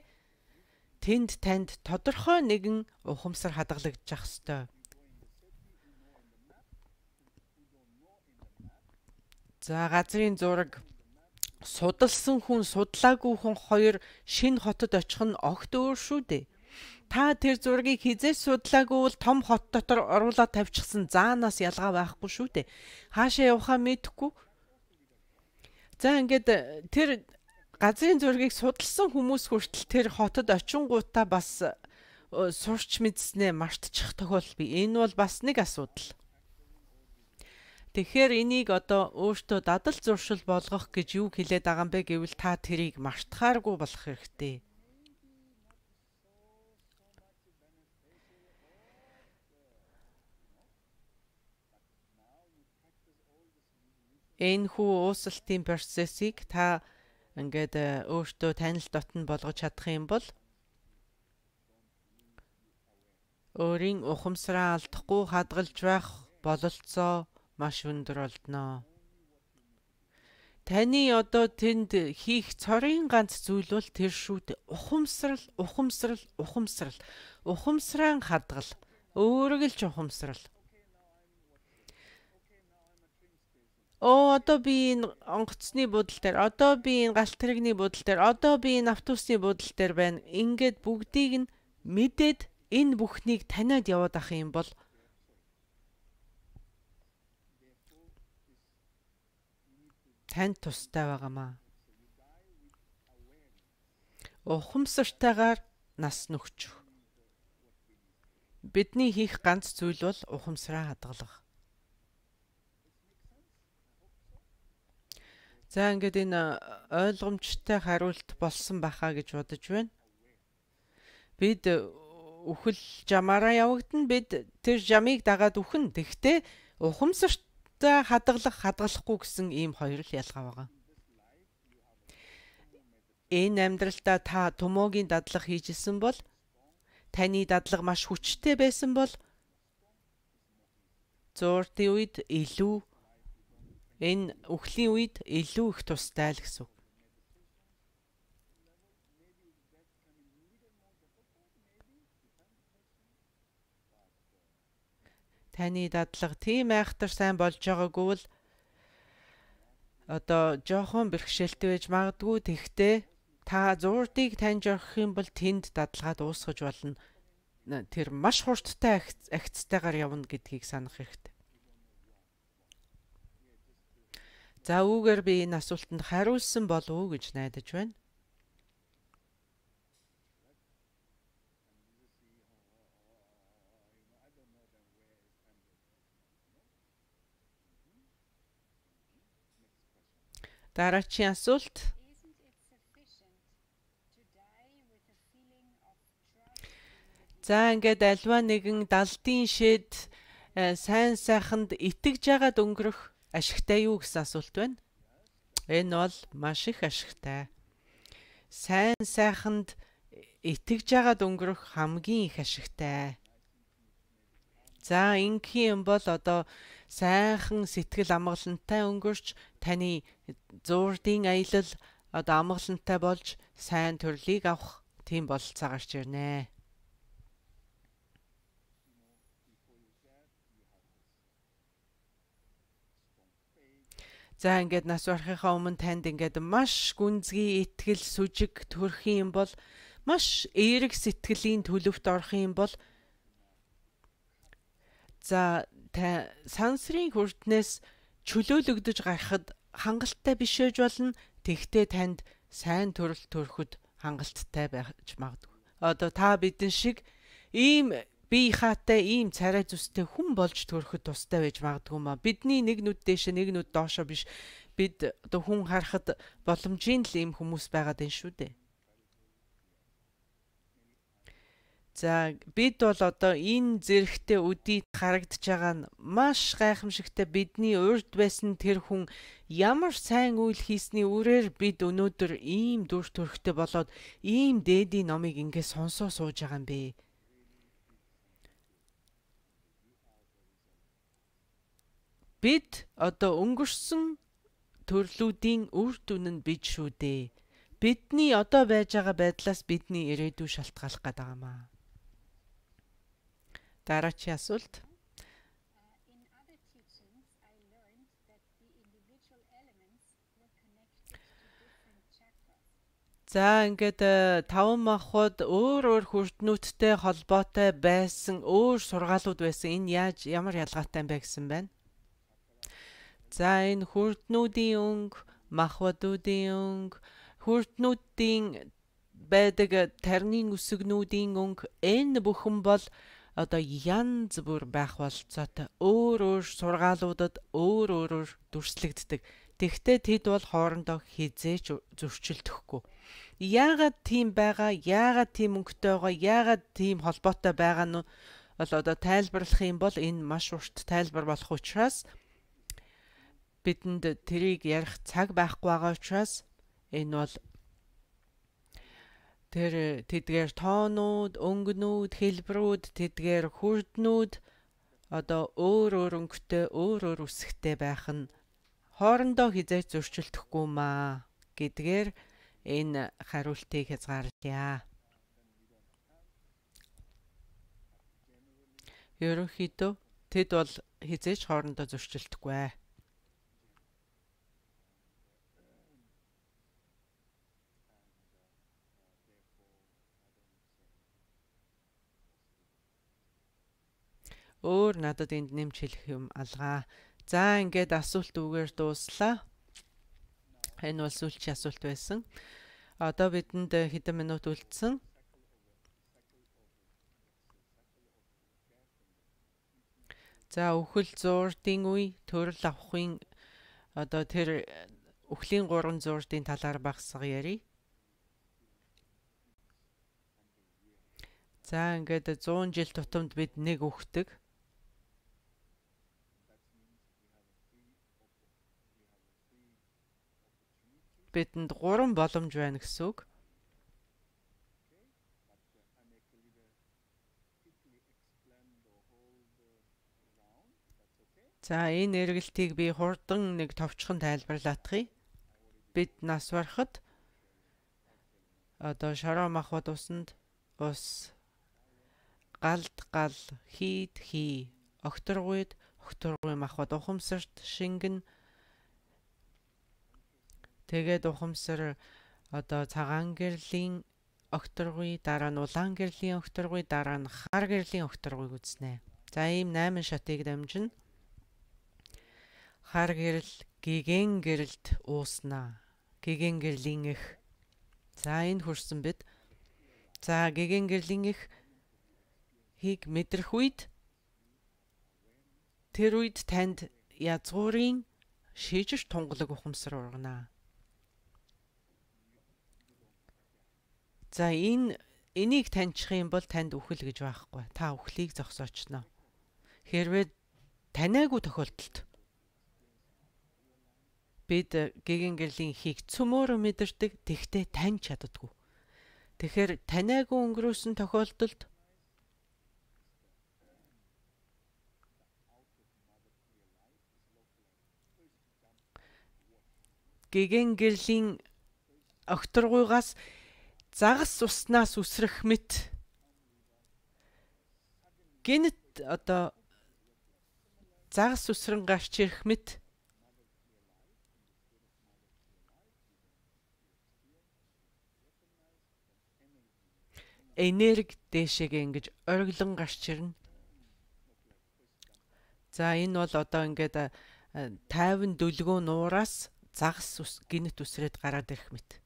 тэнд танд тодорхой нэгэн ухамсар хадгалагдчих ёстой. За газрын зураг судалсан хүн, судлаагүй хүн хоёр шинэ хотод очих нь огт өөр шүү дээ. Та тэр зургийг хизээс судлаагүй бол том хот дотор оруулаад тавьчихсан заанаас ялгаа байхгүй шүү дээ. Хаашаа явахаа мэдэхгүй. За ингээд тэр газрын зургийг судалсан хүмүүс хүртэл тэр хотод очингуудаа бас сурч мэдснээ мартчих тохиолдол бий. Энэ бол бас нэг асуудал. Тэгэхээр энийг одоо өөртөө дадал зуршил болгох гэж юу хэлээд байгаа юм бэ гэвэл та тэрийг мартахааргүй болох хэрэгтэй. Энэ хүү уусалтын процессыг та ингээд өөртөө танил дотн болгож чадах юм бол өөрийн ухамсараа алдахгүй хадгалж байх бололцоо маш өндөр болдноо. Таны одоо тэнд хийх цорын ганц зүйл бол тэр шүү дээ. Ухамсарал, ухамсарал, ухамсарал. Ухамсараа хадгал. Өөрөглж ухамсарал. Оо одоо би энэ онгоцны будал дээр, одоо би энэ галт тэрэгний будал дээр, одоо би энэ автобусны будал дээр байна. Ингээд бүгдийг нь мэдээд энэ бүхнийг таниад яваад ах юм бол тань тустай байгаамаа. Ухамсартайгаар нас нөхчих. Бидний хийх ганц зүйл бол ухамсараа хадгалах. За ингээд энэ ойлгомжтой хариулт болсон байхаа гэж бодож байна. Бид үхэл жамаараа явагдана. Бид тэр жамыг дагаад үхэн. Тэгтээ ухамсартай хадгалах, хадгалахгүй гэсэн ийм хоёр л ялгаа байгаа. Энэ амьдралдаа та томоогийн дадлага хийжсэн бол таны дадлага маш хүчтэй байсан бол зууртын үед илүү энэ үхлийн үед илүү их тустай л гэсэн. Таны дадлага тийм айхтар сайн болж байгаагүй бол одоо жоохон бэрхшээлтэй байж магадгүй. Тэгтээ та зуурдыг таньж орох юм бол тэнд дадлагаа дуусгаж болно. Тэр маш хурдтай агцтайгаар явна гэдгийг санах хэрэгтэй. За үүгээр би энэ асуултанд хариулсан болов уу гэж найдаж байна. Дараагийн асуулт. За ингээд альва нэгэн далдын шид сайн сайханд итгэж яагаад өнгөрөх ашигтай юу гэсэн асуулт байна. Энэ бол маш их ашигтай. Сайн сайханд итгэж яагаад өнгөрөх хамгийн их ашигтай. За ингийн юм бол одоо сайхан сэтгэл амгалантай өнгөрч таны зуурдын аялал одоо амгалантай болж сайн төрлийг авах тийм бололцоо гарч ирнэ. За ингээд нас барахынхаа өмнө танд ингээд маш гүнзгий итгэл сүжиг төрөх юм бол маш эерэг сэтгэлийн төлөвт орох юм бол за та сансрын хүртнээс чөлөөлөгдөж гарахад хангалттай биш байж болно. Тэгтээ танд сайн төрөл төрөхөд хангалттай байж магадгүй. Одоо та бидэн шиг ийм бие хаатай ийм царай зүстэй хүн болж төрөхөд тустай байж магадгүй маа. Бидний нэг нүд дээш нэг нүд доошо биш. Бид одоо хүн харахад боломжийн л ийм хүмүүс байгаад байна шүү дээ. За бид бол одоо энэ зэрэгтэй үдийд харагдж байгаа нь маш гайхамшигтай. Бидний урд байсан тэр хүн ямар сайн үйл хийсний үрээр бид өнөөдөр ийм дүр төрхтэй болоод ийм дээдийн номыг ингээд сонсоо сууж байгаа юм бэ. Бид одоо өнгөрсөн төрлүүдийн үр дүн нь бид шүү дээ. Бидний одоо байж байгаа байдлаас бидний ирээдүй шалтгаалах гээд байгаа маа. Дараагийн асуулт. За ингээд таван махбод өөр өөр хүрднүүдтэй холбоотой байсан өөр сургаалууд байсан. Энэ яаж ямар ялгаатай юм бэ гэсэн байна. За энэ хүрднүүдийн өнгө, махбодуудын өнгө, хүрднүүдийн байдаг тарны үсгнүүдийн өнгө энэ бүхэн бол одоо янз бүр байх болцоотой өөр өөр сургаалуудад өөр өөрөөр дүрслэгддэг. Тэгвэл тэд бол хоорондоо хизээч зөрчилдөхгүй. Яагаад тийм байгаа? Яагаад тийм өнгөтэй байгаа? Яагаад тийм холбоотой байгаа нь бол одоо тайлбарлах юм бол энэ маш урт тайлбар болох учраас бидэнд тэрийг ярих цаг байхгүй байгаа учраас энэ бол тэр тэдгээр тоонууд, өнгөнүүд, хэлбэрүүд, тэдгээр хүрднүүд одоо өөр өөр өнгөтэй, өөр өөр үсгтэй байх нь хоорондоо хизээч зөрчилдөхгүй маа гэдгээр энэ хариултыг хязгаарлая. Ерөнхийдөө тэд бол хизээч хоорондоо зөрчилдөхгүй. Өөр надад энд нэмж хэлэх юм алгаа. За ингээд асуулт үгээр дууслаа. Энэ бол сүүлчийн асуулт байсан. Одоо бидэнд хэдэн минут үлдсэн. За үхэл зуурдын үе, төрөл авахын одоо тэр үхлийн гурван зуурдын талаар багсаг ярий. За ингээд зуун жил тутамд бид нэг үхдэг. Бидэнд гурван боломж байна гэсэн үг. За энэ эргэлтийг би хурдан нэг товчхон тайлбарлаадахыг. Бид нас барахад одоо шороо махбод усанд ус, галд гал, хийд хий, огторгуйд огторгуй махбод ухамсарт шингэн. Тэгээд ухамсар одоо цагаан гэрлийн огторгуй, дараа нь улаан гэрлийн огторгуй, дараа нь хар гэрлийн огторгуйг үзнэ. За ийм найман шатыг дамжина. Хар гэрэл гэгэн гэрэлд ууснаа. Гэгэн гэрлийн их. За энэ хүрсэн бид. За гэгэн гэрлийн их хийг мэдрэх үед тэр үед танд язгуурын шижиж тунгалаг ухамсар ургана. За энэ энийг таньчих юм бол танд үхэл гэж байхгүй. Та үхлийг зогсоочно. Хэрвээ таниагүй тохиолдолд бид гэгэн гэрлийн хийг цөмөөрө мэдэрдэг, тэгтээ таньж чаддаггүй. Тэгэхээр таниагүй өнгөрөөсөн тохиолдолд гэгэн гэрлийн огторгуйгаас загас уснаас үсрэх мэт гинт одоо загас үсрэн гарч ирэх мэт энерги дэшегээ ингэж ориглон гарч ирнэ. За энэ бол одоо ингээд тайван дүлгөө нуураас загас гинт үсрээд гараад ирэх мэт.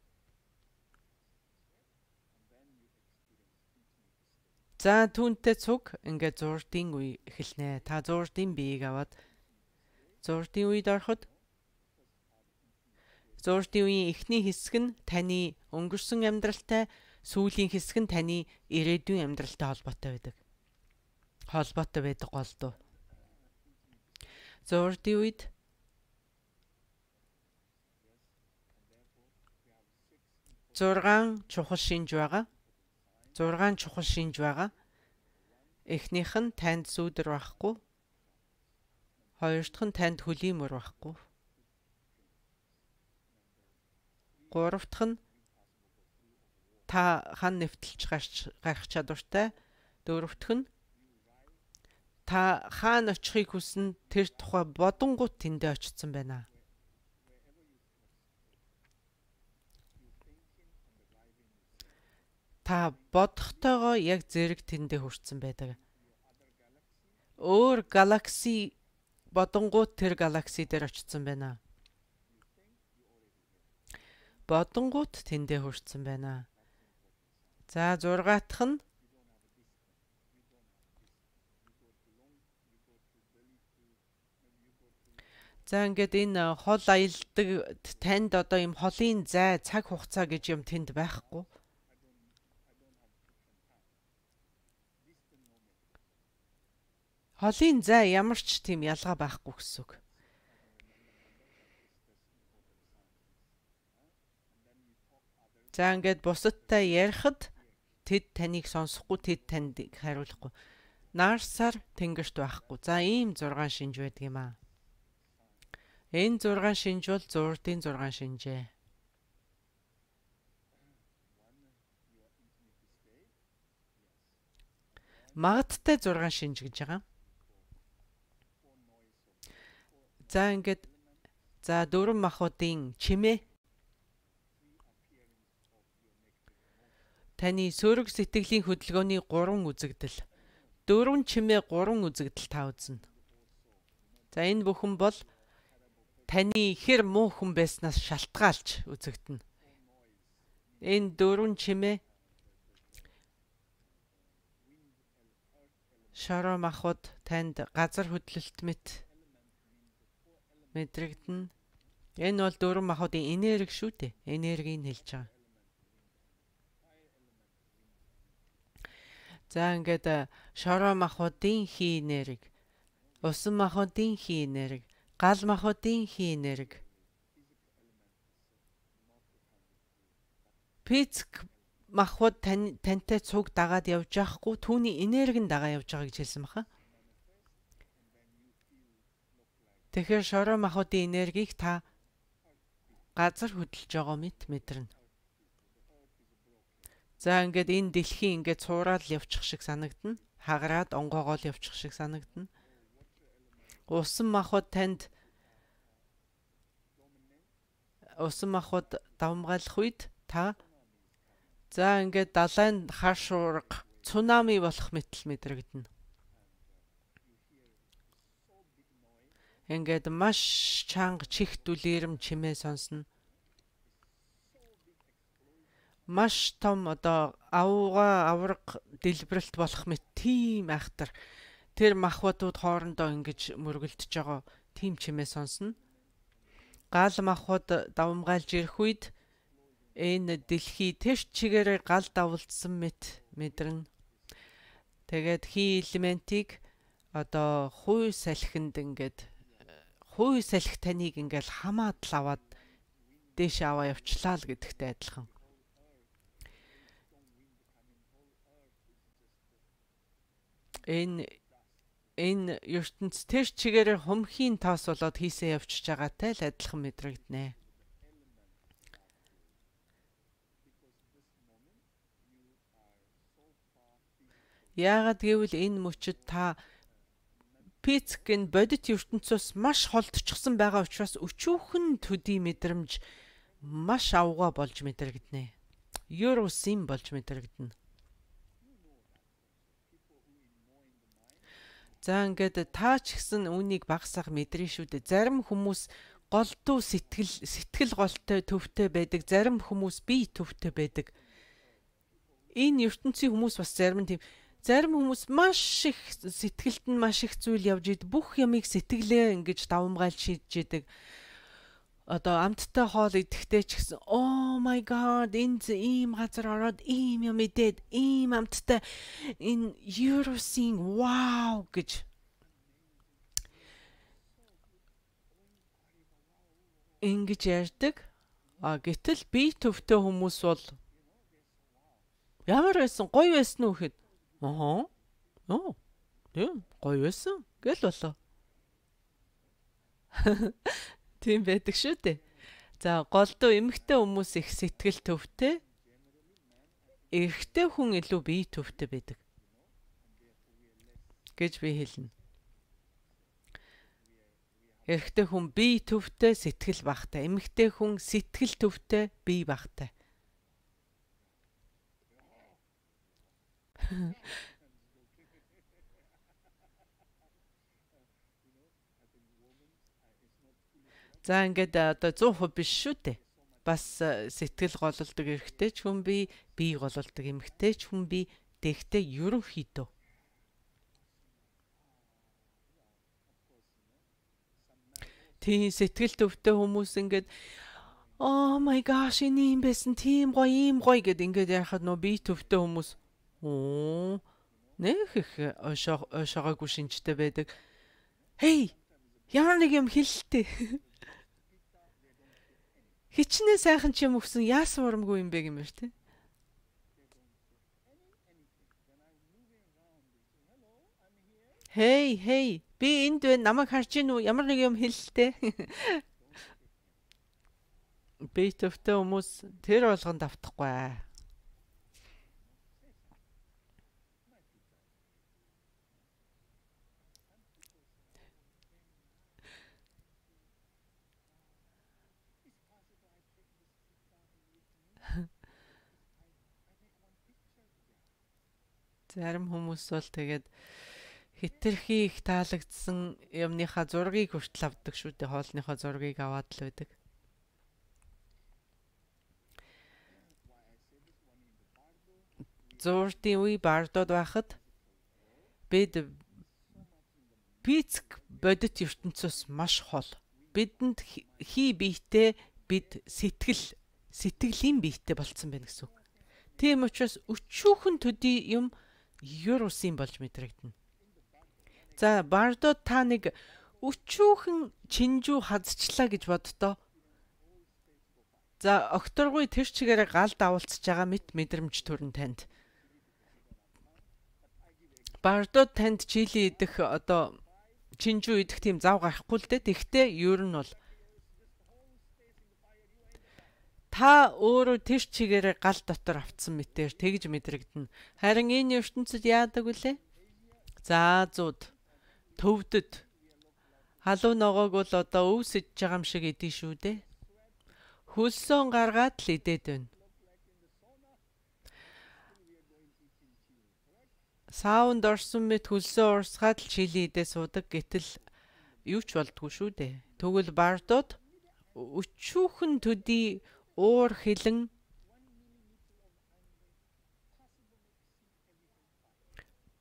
За түүнтэй цуг ингээд зуурдын үе эхэлнэ. Та зуурдын биеийг аваад зуурдын үед ороход зуурдын үеийн эхний хэсэг нь таны өнгөрсөн амьдралтай, сүүлийн хэсэг нь таны ирээдүйн амьдралтай холбоотой байдаг. Холбоотой байдаг голдуу. Зуурдын үед зургаан чухал шинж байгаа. зургаан чухал шинж байгаа. Эхнийх нь танд сүүдэр байхгүй. Хоёр дахь нь танд хөлийн мөр байхгүй. Гурав дахь нь та хан нэвтэлж гарах чадвартай. Дөрөв дахь нь та хаана очихыг хүснэ тэр тухай бодонгууд тэндээ очсон байна. Та бодохтойгоо яг зэрэг тэндээ хүрсэн байдаг. Өөр галакси бодонгууд тэр галакси дээр очсон байна. Бодонгууд тэндээ хүрсэн байна. За зургаатх нь За ингээд энэ хол аялдаг танд одоо юм холын зай цаг хугацаа гэж юм тэнд байхгүй. Холын зай ямар ч тийм ялгаа байхгүй гэсэн үг. За ингээд бусадтай ярихад тэд таныг сонсохгүй, тэд танд хариулахгүй. Нарсаар тэнгэрт байхгүй. За ийм зургаан шинж байдаг юм аа. Энэ зургаан шинж бол зурдын зургаан шинжээ. Магадтай зургаан шинж гэж байгаа. За ингээд за дөрвөн махбодын чимээ таны сөрөг сэтгэлийн хөдөлгөөний гурван үзэгдэл. Дөрвөн чимээ гурван үзэгдэл та үзнэ. За энэ бүхэн бол таны хэр муу хүн байснаас шалтгаалж үзэгдэнэ. Энэ дөрвөн чимээ шороо махбод танд газар хөдлөлт мэт мэдрэгдэнэ. Энэ бол дөрвөн махбодын энерги шүү дээ. Энергийг хэлж байгаа. За ингээд шороо махбодын хий энерги, усан махбодын хий энерги, гал махбодын хий энерги. Физик махбод тантай цуг дагаад явж байхгүй, түүний энергийн дагаа явж байгаа гэж хэлсэн баха. Тэгэхээр шороо махбодын энергийг та газар хөдлөж байгаа мэт мэдэрнэ. За ингээд энэ дэлхийн ингээд цуураад явчих шиг санагдана. Хагараад онгоогоол явчих шиг санагдана. Усан махбод танд усан махбод давмгайлах үед та за ингээд далайн хар шуурга цунами болох мэт мэдрэгдэнэ. Ингээд маш чанга чих дүлээрм чимээ сонсно. Маш том одоо авга авраг дэлбэрэлт болох мэт тийм айхтар тэр махбодууд хоорондоо ингэж мөргөлдөж байгаа тийм чимээ сонсно. Гал махбод давмгайлж ирэх үед энэ дэлхий тэрч чигээрээ гал давалдсан мэт мэдрэн. Тэгээд хий элементийг одоо хуй салхинд ингээд хуй салхи таныг ингээл хамаад л аваад дээш аваа явчлаа л гэдэгтэй адилхан. Энэ энэ ертөнц тэр чигээрээ хумхийн тоос болоод хийсээ явчихж байгаатай л адилхан мэдрэгдэнэ. Яагаад гэвэл энэ мөчөд та физикийн бодит ертөнцөөс маш холдчихсон байгаа учраас өчүүхэн төдий мэдрэмж маш авгаа болж мэдрэгдэнэ. Юрусим болж мэдрэгдэнэ. За ингээд та ч гэсэн үүнийг багсах мэдрээ шүү дээ. Зарим хүмүүс голдуу сэтгэл сэтгэл голтой төвтэй байдаг. Зарим хүмүүс бие төвтэй байдаг. Энэ ертөнцийн хүмүүс бас зарим нь тийм. Зарим хүмүүс маш их сэтгэлд нь маш их зүйл явж ид бүх ямыг сэтгэлээ ингэж давмгайлж шийдэж идэг. Одоо амттай хоол идэхтэй ч гэсэн oh my god энэ ийм газар ороод ийм юм идээд ийм амттай энэ Eurosing wow гэж ингэж ярьдаг. А гэтэл бие төвтэй хүмүүс бол ямар байсан гоё байсан уу гэхэд аа оо тийм гоё байсан гэл болоо. Тийм байдаг шүү дээ. За голдуу эмэгтэй хүмүүс их сэтгэл төвтэй. Эрэгтэй хүн илүү бие төвтэй байдаг гэж би хэлнэ. Эрэгтэй хүн бие төвтэй, сэтгэл багтай. Эмэгтэй хүн сэтгэл төвтэй, бие багтай. За ингээд одоо сто процент биш шүү дээ. Бас сэтгэл гололдог эрэгтэй ч хүн бие, бие гололдог эмэгтэй ч хүн бие, тэгтээ ерөнхийдөө. Тийм сэтгэл төвтэй хүмүүс ингээд oh my gosh энэ юм байсан тийм гоё ийм гоё гэд ингээд яхад нөө би төвтэй хүмүүс оо нэх их ошоо ошоогоо шинжтэй байдаг. Hey ямар нэг юм хэлэлтэй. Хичнээн сайхан ч юм өгсөн яасан урамгүй юм бэ гэмээр тий. Hey hey би энд байна намайг харж гин үү ямар нэг юм хэлэлтэй. Би төвтэй хүмүүс тэр болгонд автахгүй. Зарим хүмүүс бол тэгээд хитрхи их таалагдсан юмныхаа зургийг хүртэл авдаг шүү дээ. Хоолныхоо зургийг аваад л байдаг. Зурдын үе бардод байхад бид физик бодит ертөнцөөс маш хол. Бидэнд хий биетэй бид сэтгэл сэтгэлийн биетэй болцсон байна гэсэн. Тийм учраас өчүүхэн төдий юм юр усын болж мэдрэгдэнэ. За бардод та нэг өчүүхэн чинжүү хазчлаа гэж боддоо. За окторгүй тэр чигээрээ гал давалцж байгаа мэт мэдрэмж төрн танд. Бардод танд чили идэх одоо чинжүү идэх тийм зав гарахгүй л дээ. Тэгтээ ер нь бол та өөрөө тэр чигээрээ гал дотор автсан мэтэр тэгж мэдрэгдэнэ. Харин энэ ертөнцид яадаг вүлээ? За зууд төвдөд халуун ногоог бол одоо өв сэж байгаа юм шиг идэв шүү дээ. Хөлсөөн гаргаад л идээд байна. Саунд орсон мэт хөлсөө урсгаад л чили идээ суудаг гэтэл юу ч болдгүй шүү дээ. Тэгвэл бардууд өчүүхэн төдий уур хилэн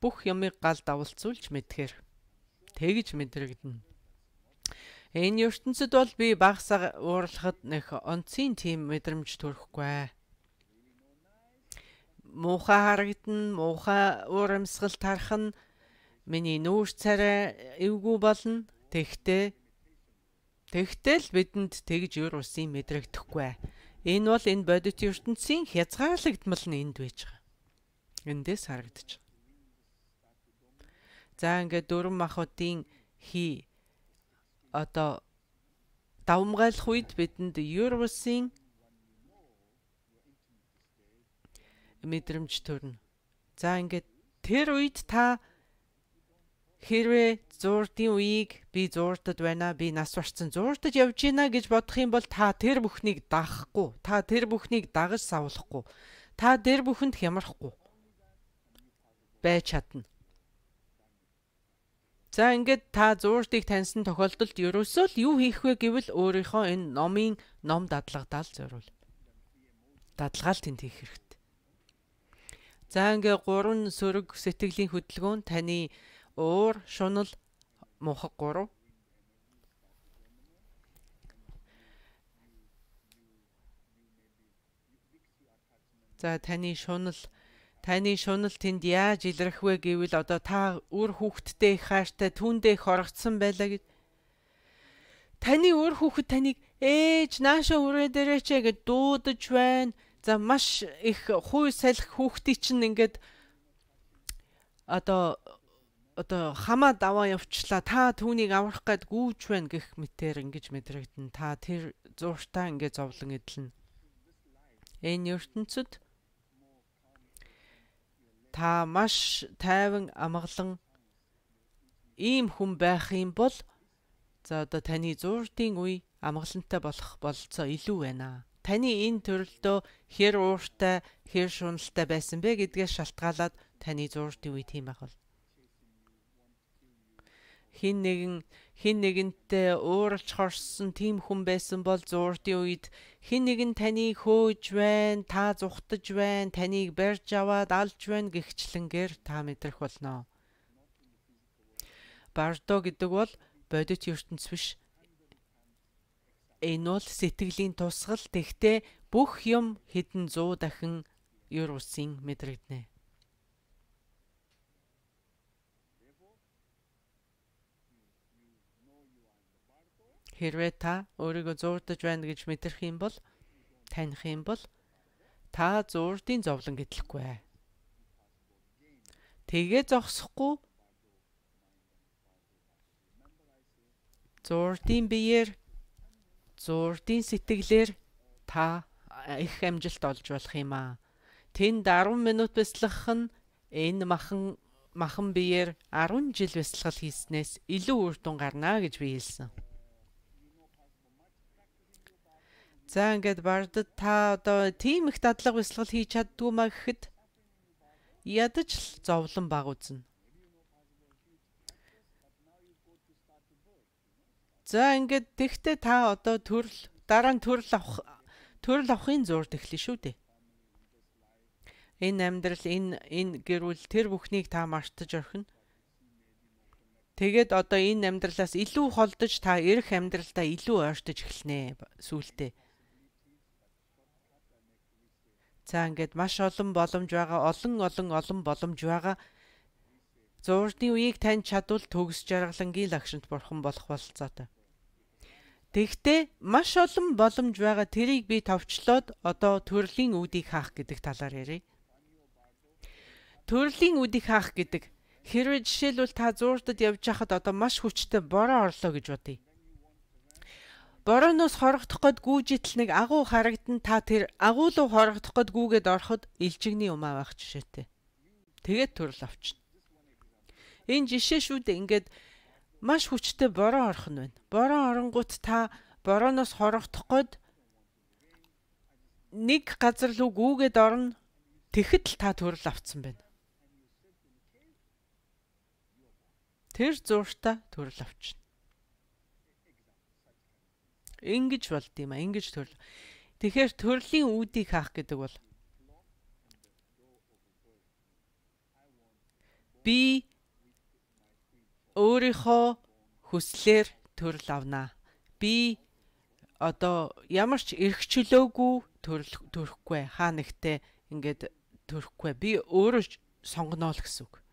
бүх юмыг гал давалцуулж мэдхээр тэгж мэдрэгдэнэ. Энэ ертөнцид бол би багсаа уурлахад нэх онцгийн тийм мэдрэмж төрөхгүй. Муухай харагдана, муухай урамсгалт харах нь миний нүүр царай эвгүй болно. Тэгтээ тэгтэл бидэнд тэгж юр усын мэдрэгдэхгүй. Энэ бол энэ бодит ертөнцийн хязгаарлагдмал нь энд байж байгаа. Эндээс харагдаж байгаа. За ингээд дөрвөн махбодын хий одоо давмгайлах үед бидэнд юр усын мэдрэмж төрнө. За ингээд тэр үед та хэрвээ зуурдын үеийг би зуурдад байна, би нас барсан зуурдад явж гинэ гэж бодох юм бол та тэр бүхнийг дагахгүй, та тэр бүхнийг дагаж савлахгүй, та тэр бүхэнд хямрахгүй байж чадна. За ингээд та зуурдыг таньсан тохиолдолд ерөөсөө л юу хийх вэ гэвэл өөрийнхөө энэ номын ном дадлагдаал зориул. Дадлагаал тэнд хийх хэрэгтэй. За ингээ гурван сөрөг сэтгэлийн хөдөлгөөн таны уур, шунал, мухаг гурав. За таны шунал, таны шунал тэнд яаж илрэх вэ гэвэл одоо та үр хүүхэдтэй их хайртай түүндээ их оргцсан байлаа гэж. Таны үр хүүхэд таныг ээж наашаа үрээ дээрээч гэж дуудаж байна. За маш их хүй салхи хүүхдий чинь ингээд одоо одоо хамаа даваа явчлаа. Та түүнийг аврах гээд гүүж байна гэх мэтээр ингэж мэдрэгдэн. Та тэр зууртаа ингээд зовлон эдлэн. Энэ ертөнцид та маш тайван амгалан ийм хүн байх юм бол за одоо таны зууртын үе амгалантай болох болцоо илүү байна. Таны энэ төрөлдөө хэр ууртай, хэр шуналтай байсан бэ гэдгээс шалтгаалаад таны зууртын үе тийм байх бол. Хин нэгэн хин нэгэнтэй ууралж хорсон тийм хүн байсан бол зууртын үед хин нэгэн таныг хөөж байна, та зүхтаж байна, таныг барьж аваад алж байна гихчлэнгээр та мэдрэх болно. Бардо гэдэг бол бодит ертөнц биш. Энэ бол сэтгэлийн тусгал. Тэгтээ бүх юм хэдэн зуун дахин юр усын мэдрэгдэнэ. Хэрвээ та өөрийгөө зуурдаж байна гэж мэдрэх юм бол, таних юм бол та зуурдын зовлон гэтлэхгүй. Тэгээ зогсохгүй зуурдын биеэр, зуурдын сэтгэлээр та их амжилт олж болох юм аа. Тэнд десять минут бяцлах нь энэ махан махан биеэр десять жил бяцлал хийснээс илүү үр дүн гарна гэж би хэлсэн. За ингээд бардад та одоо тийм их дадлага бяцлал хийж чаддгүй маа гэхэд ядаж л зовлон баг үзнэ. За ингээд тэгтээ та одоо төрөл дараа нь төрөл авах төрөл авахын зурд эхлэн шүү дээ. Энэ амьдрал, энэ энэ гэрүүл тэр бүхнийг та мартаж орхино. Тэгээд одоо энэ амьдралаас илүү холдож та ирэх амьдралдаа илүү ойртож эхэлнэ сүүлдээ. За ингээд маш олон боломж байгаа, олон олон олон боломж байгаа. Зуурдны үеийг тань чадвал төгс жаргалангийн лагшинт бурхан болох болцоотой. Тэгтээ маш олон боломж байгаа, тэрийг би товчлоод одоо төрлийн үүдийг хаах гэдэг талаар ярив. Төрлийн үүдийг хаах гэдэг хэрвээ жишээлбэл та зуурдад явж байхад одоо маш хүчтэй бороо орлоо гэж бодъё. Борооноос хорогдох гээд гүйжитл нэг агуу харагдан, та тэр агуу руу хорогдох гээд гүүгээд ороход илжигний умаа байх жишээтэй. Тэгээд төрөл авчна. Энэ жишээ шүү дээ. Ингээд маш хүчтэй бороо орох нь байна. Бороо оронгууд та борооноос хорогдох гээд нэг газар руу гүүгээд орно. Тэгэхэд л та төрөл авцсан байна. Тэр зууртаа төрөл авчна. Ингэж болд юм а. Ингэж төрөл. Тэгэхээр төрлийн үүдийг хаах гэдэг бол би өөрийнхөө хүслээр төрөл авнаа. Би одоо ямар ч эрх чөлөөгүй төрөл төрөхгүй. Хаа нэгтээ ингээд төрөхгүй. Би өөрөө сонгоно л гэсэн үг.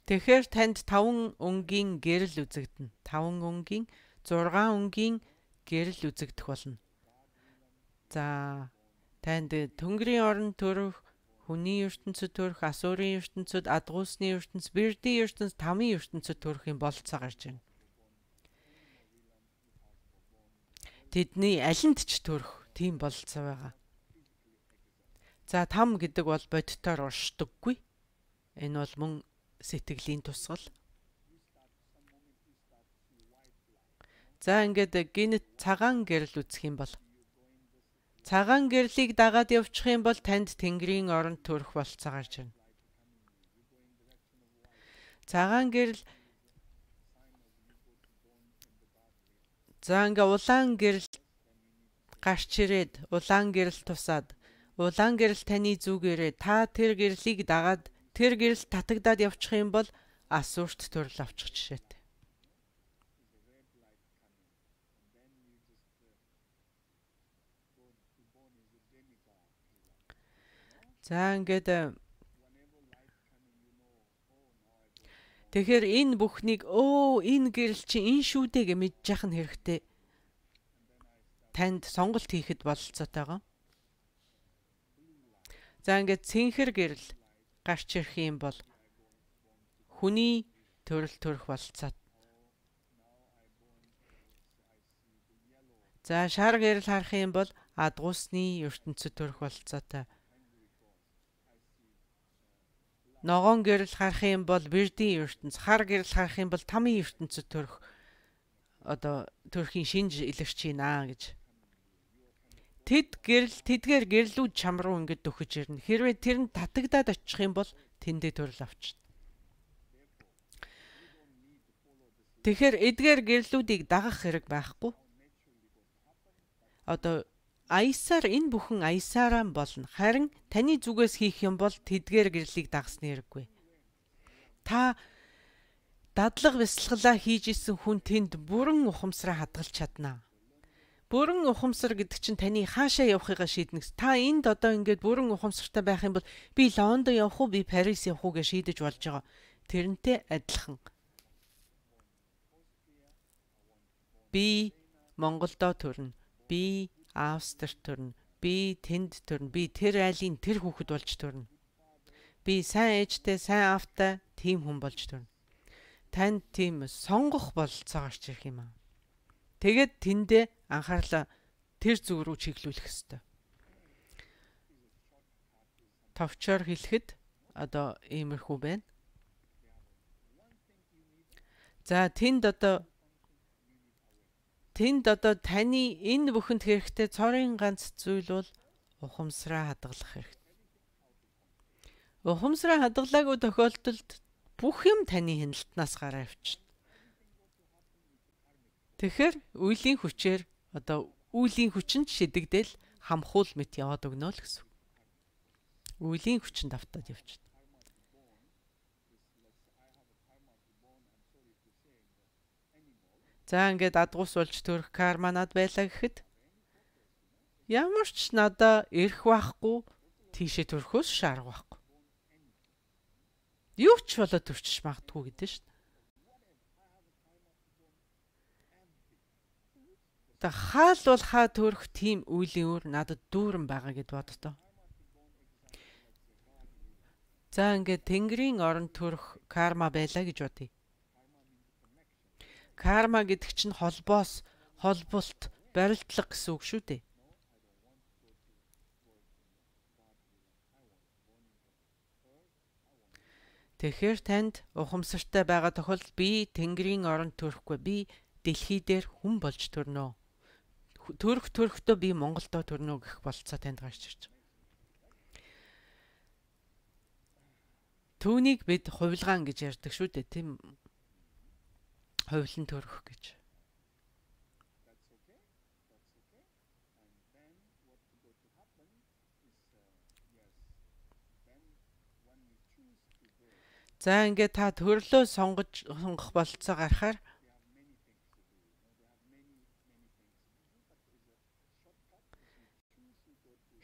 Тэгэхээр танд таван өнгийн гэрэл үзэгдэнэ. таван өнгийн, зургаан өнгийн гэрэл үзэгдэх болно. За танд Тэнгэрийн орон төрөх, хүний ертөнцид төрөх, асуурын ертөнцид, адгуусны ертөнц, бэрдийн ертөнц, тамийн ертөнцид төрөхийн болцоо гарч ирнэ. Тэдний алинд ч төрөх тийм болцоо байгаа. За там гэдэг бол бодитоор уршдаггүй. Энэ бол мөн сэтгэлийн тусгал. За ингээд гинт цагаан гэрэл үзэх юм бол цагаан гэрлийг дагаад явчих юм бол танд Тэнгэрийн оронд төрөх болцоо гарч ирнэ. Цагаан гэрэл За ингээ улаан гэрэл гарч ирээд улаан гэрэл тусаад улаан гэрэл таны зүгээрээ та тэр гэрлийг дагаад тэр гэрэл татагдаад явчих юм бол асуурт төрөл авчих жишээтэй. За ингээд тэгэхээр энэ бүхнийг өө энэ гэрэл чи энэ шүү дээ гэж мэдж яах нь хэрэгтэй. Танд сонголт хийхэд бололцоотойгоо. За ингээд цэнхэр гэрэл гарч ирэх юм бол хүний төрөл төрөх бололцоо. За шар гэрэл харах юм бол адгуусны ертөнцид төрөх бололцоотой. Ногоон гэрэл харах юм бол бэрдийн ертөнц, хар гэрэл харах юм бол тамийн ертөнцид төрөх одоо төрхийн шинж илэрч байна гэж. Тэд гэрэл тэдгээр гэрлүүд чам руу ингэж дөхөж ирнэ. Хэрвээ тэр нь татагдаад очих юм бол тэндээ төрөл авчна. Тэгэхээр эдгээр гэрлүүдийг дагах хэрэг байхгүй. Одоо аясаар энэ бүхэн аясаараа болно. Харин таны зүгээс хийх юм бол тэдгээр гэрлийг дагсны хэрэггүй. Та дадлага бясалгалаа хийж исэн хүн тэнд бүрэн ухамсараа хадгалж чаднаа. Бүрэн ухамсар гэдэг чинь таны хаашаа явахыгаа шийднэ. Та энд одоо ингээд бүрэн ухамсартай байх юм бол би Лондон явах уу, би Парис явах уу гэж шийдэж болж байгаа. Тэрнтэй адилхан. Би Монголдо төрнө. Би Австрид төрнө. Би тэнд төрнө. Би тэр айлын тэр хүүхэд болж төрнө. Би сайн ээжтэй, сайн аавтай тийм хүн болж төрнө. Танд тийм сонгох бололцоо гарч ирэх юм аа. Тэгээд тэндээ анхаарлаа тэр зүг рүү чиглүүлэх ёстой. Товчоор хэлэхэд одоо иймэрхүү байна. За тэнд одоо тэнд одоо таны энэ бүхэнд хэрэгтэй цорын ганц зүйл бол ухамсараа хадгалах хэрэгтэй. Ухамсараа хадгалаагүй тохиолдолд бүх юм таны хяналтнаас гараа авчна. Тэгэхээр үеийн хүчээр одоо үеийн хүчинд шидэгдэл хамхуул мэт яваад өгнө л гэсэн. Үеийн хүчинд автаад явчихна. За ингээд адгуус болж төрөх карма над байлаа гэхэд ямар ч надаа ирэх байхгүй, тийшээ төрөхөөс шаарга байхгүй. Юу ч болоод төрчих магадгүй гэдэг шүү дээ. Та хаал бол хаа төрөх тийм үеийн өөр надад дүүрэн байгаа гэд боддоо. За ингээд Тэнгэрийн орон төрөх карма байлаа гэж бодъё. Карма гэдэг чинь холбоос, холболт, барилдлага гэсэн үг шүү дээ. Тэгэхээр танд ухамсартай байгаа тохиолдолд би Тэнгэрийн орон төрөхгүй, би дэлхий дээр хүн болж төрнө. Төрөх төрөхдөө би Монголдо төрнө гэх болцоо танд гарч ирж байгаа. Түүнийг бид хувилгаан гэж ярьдаг шүү дээ, тийм хувилан төрөх гэж. За ингээд та төрлөө сонгож сонгох болцоо гарахаар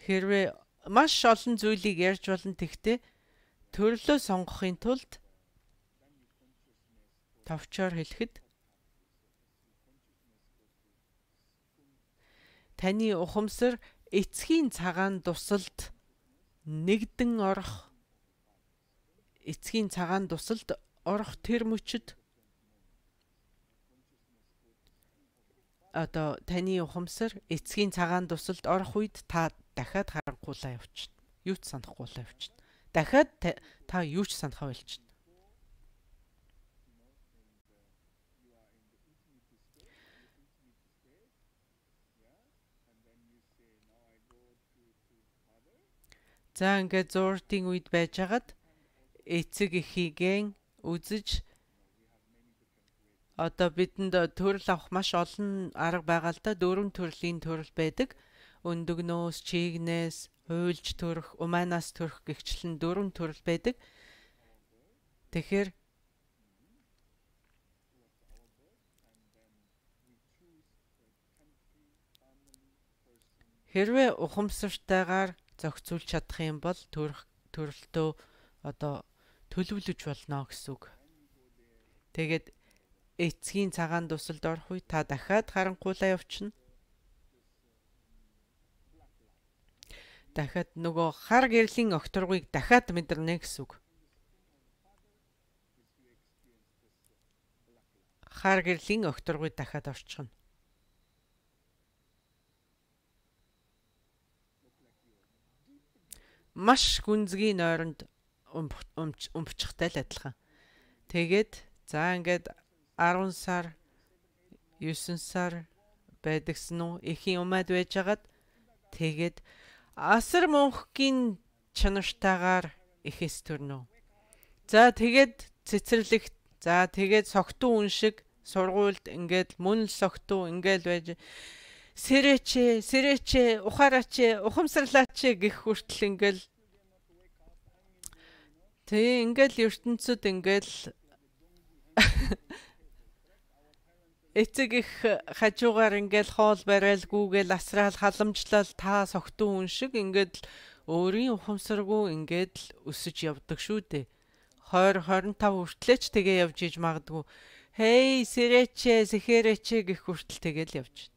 хэрвээ маш олон зүйлийг ярьж болно, тэгтээ төрлөө сонгохын тулд товчоор хэлэхэд таны ухамсар эцгийн цагаан дусалд нэгдэн орох, эцгийн цагаан дусалд орох тэр мөчөд одоо таны ухамсар эцгийн цагаан дусалд орох үед та дахиад харанхуулаа явчихна. Юу ч санахгүйлаа явчихна. Дахиад та юу ч санахаа болчихно. За ингээд зууртын үед байжгаад эцэг эхийгэн үзэж одоо бидэнд төрөл авах маш олон арга байгаа л да. Дөрвөн төрлийн төрөл байдаг. Өндөгнөөс, чигнээс, хуйлж төрөх, уманаас төрөх гихчлэн дөрвөн төрөл байдаг. Тэгэхээр хэрвээ ухамсартайгаар зохицуулж чадах юм бол төрөх төрөлтөө одоо төлөвлөж болно гэсэн үг. Тэгээд эцгийн цагаан дусалд орох үе та дахиад харанхуулаа явчихна. Дахиад нөгөө хар гэрлийн огторгыг дахиад мэдэрнэ гэсэн үг. Хар гэрлийн огторгыг дахиад орчихно. Маш гүнзгий нойронд өмчихтэй л адилхан. Тэгээд за ингээд арван сар, есен сар байдагсан уу? Эхийн умаад байжгаад тэгээд асар мөнхгийн чанартайгаар ихэс төрнө. За тэгээд цэцэрлэгт, за тэгээд согтуу хүн шиг сургуульд ингээд мөн л согтуу ингээд байж Сэрээч, сэрээч, ухаараач, ухамсарлаач гэх хүртэл ингээл тэг ингээл ертөнцид ингээл эцэг их хажуугаар ингээл хоол барайл гүүгээл асраал халамжлал та согтун хүн шиг ингээд өөрийн ухамсаргүй ингээд өсөж явдаг шүү дээ. двадцать двадцать пять хүртлээч тэгээ явж иж магадгүй. Хей, сэрээч, сэхээрэч гэх хүртэл тэгэл явж.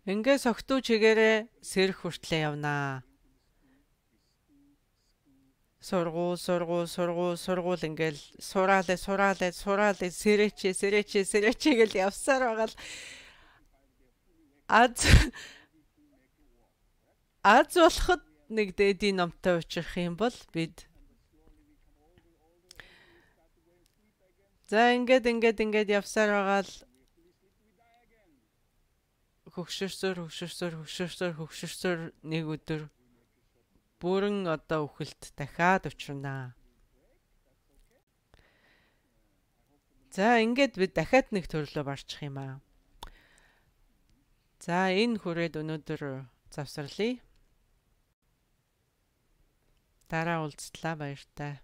Ингээ согтуу чигээрээ сэрэх хүртлээ явнаа. Сургуул, сургуул, сургуул, сургуул ингээл сураалаа, сураалаа, сураалаа, сэрээч, сэрээч, сэрээч гэл явсаар байгаа л аз аз болоход нэг дээдийн номтой уучрах юм бол бид за ингээд ингээд ингээд явсаар байгаа л хөгшөрсөр хөгшөрсөр хөгшөрсөр хөгшөрсөр нэг өдөр бүрэн одоо үхэлт дахиад учрнаа. За ингээд бид дахиад нэг төрлөө барчих юм аа. За энэ хүрээд өнөөдөр завсарлая. Дараа уулзтлаа баяртай.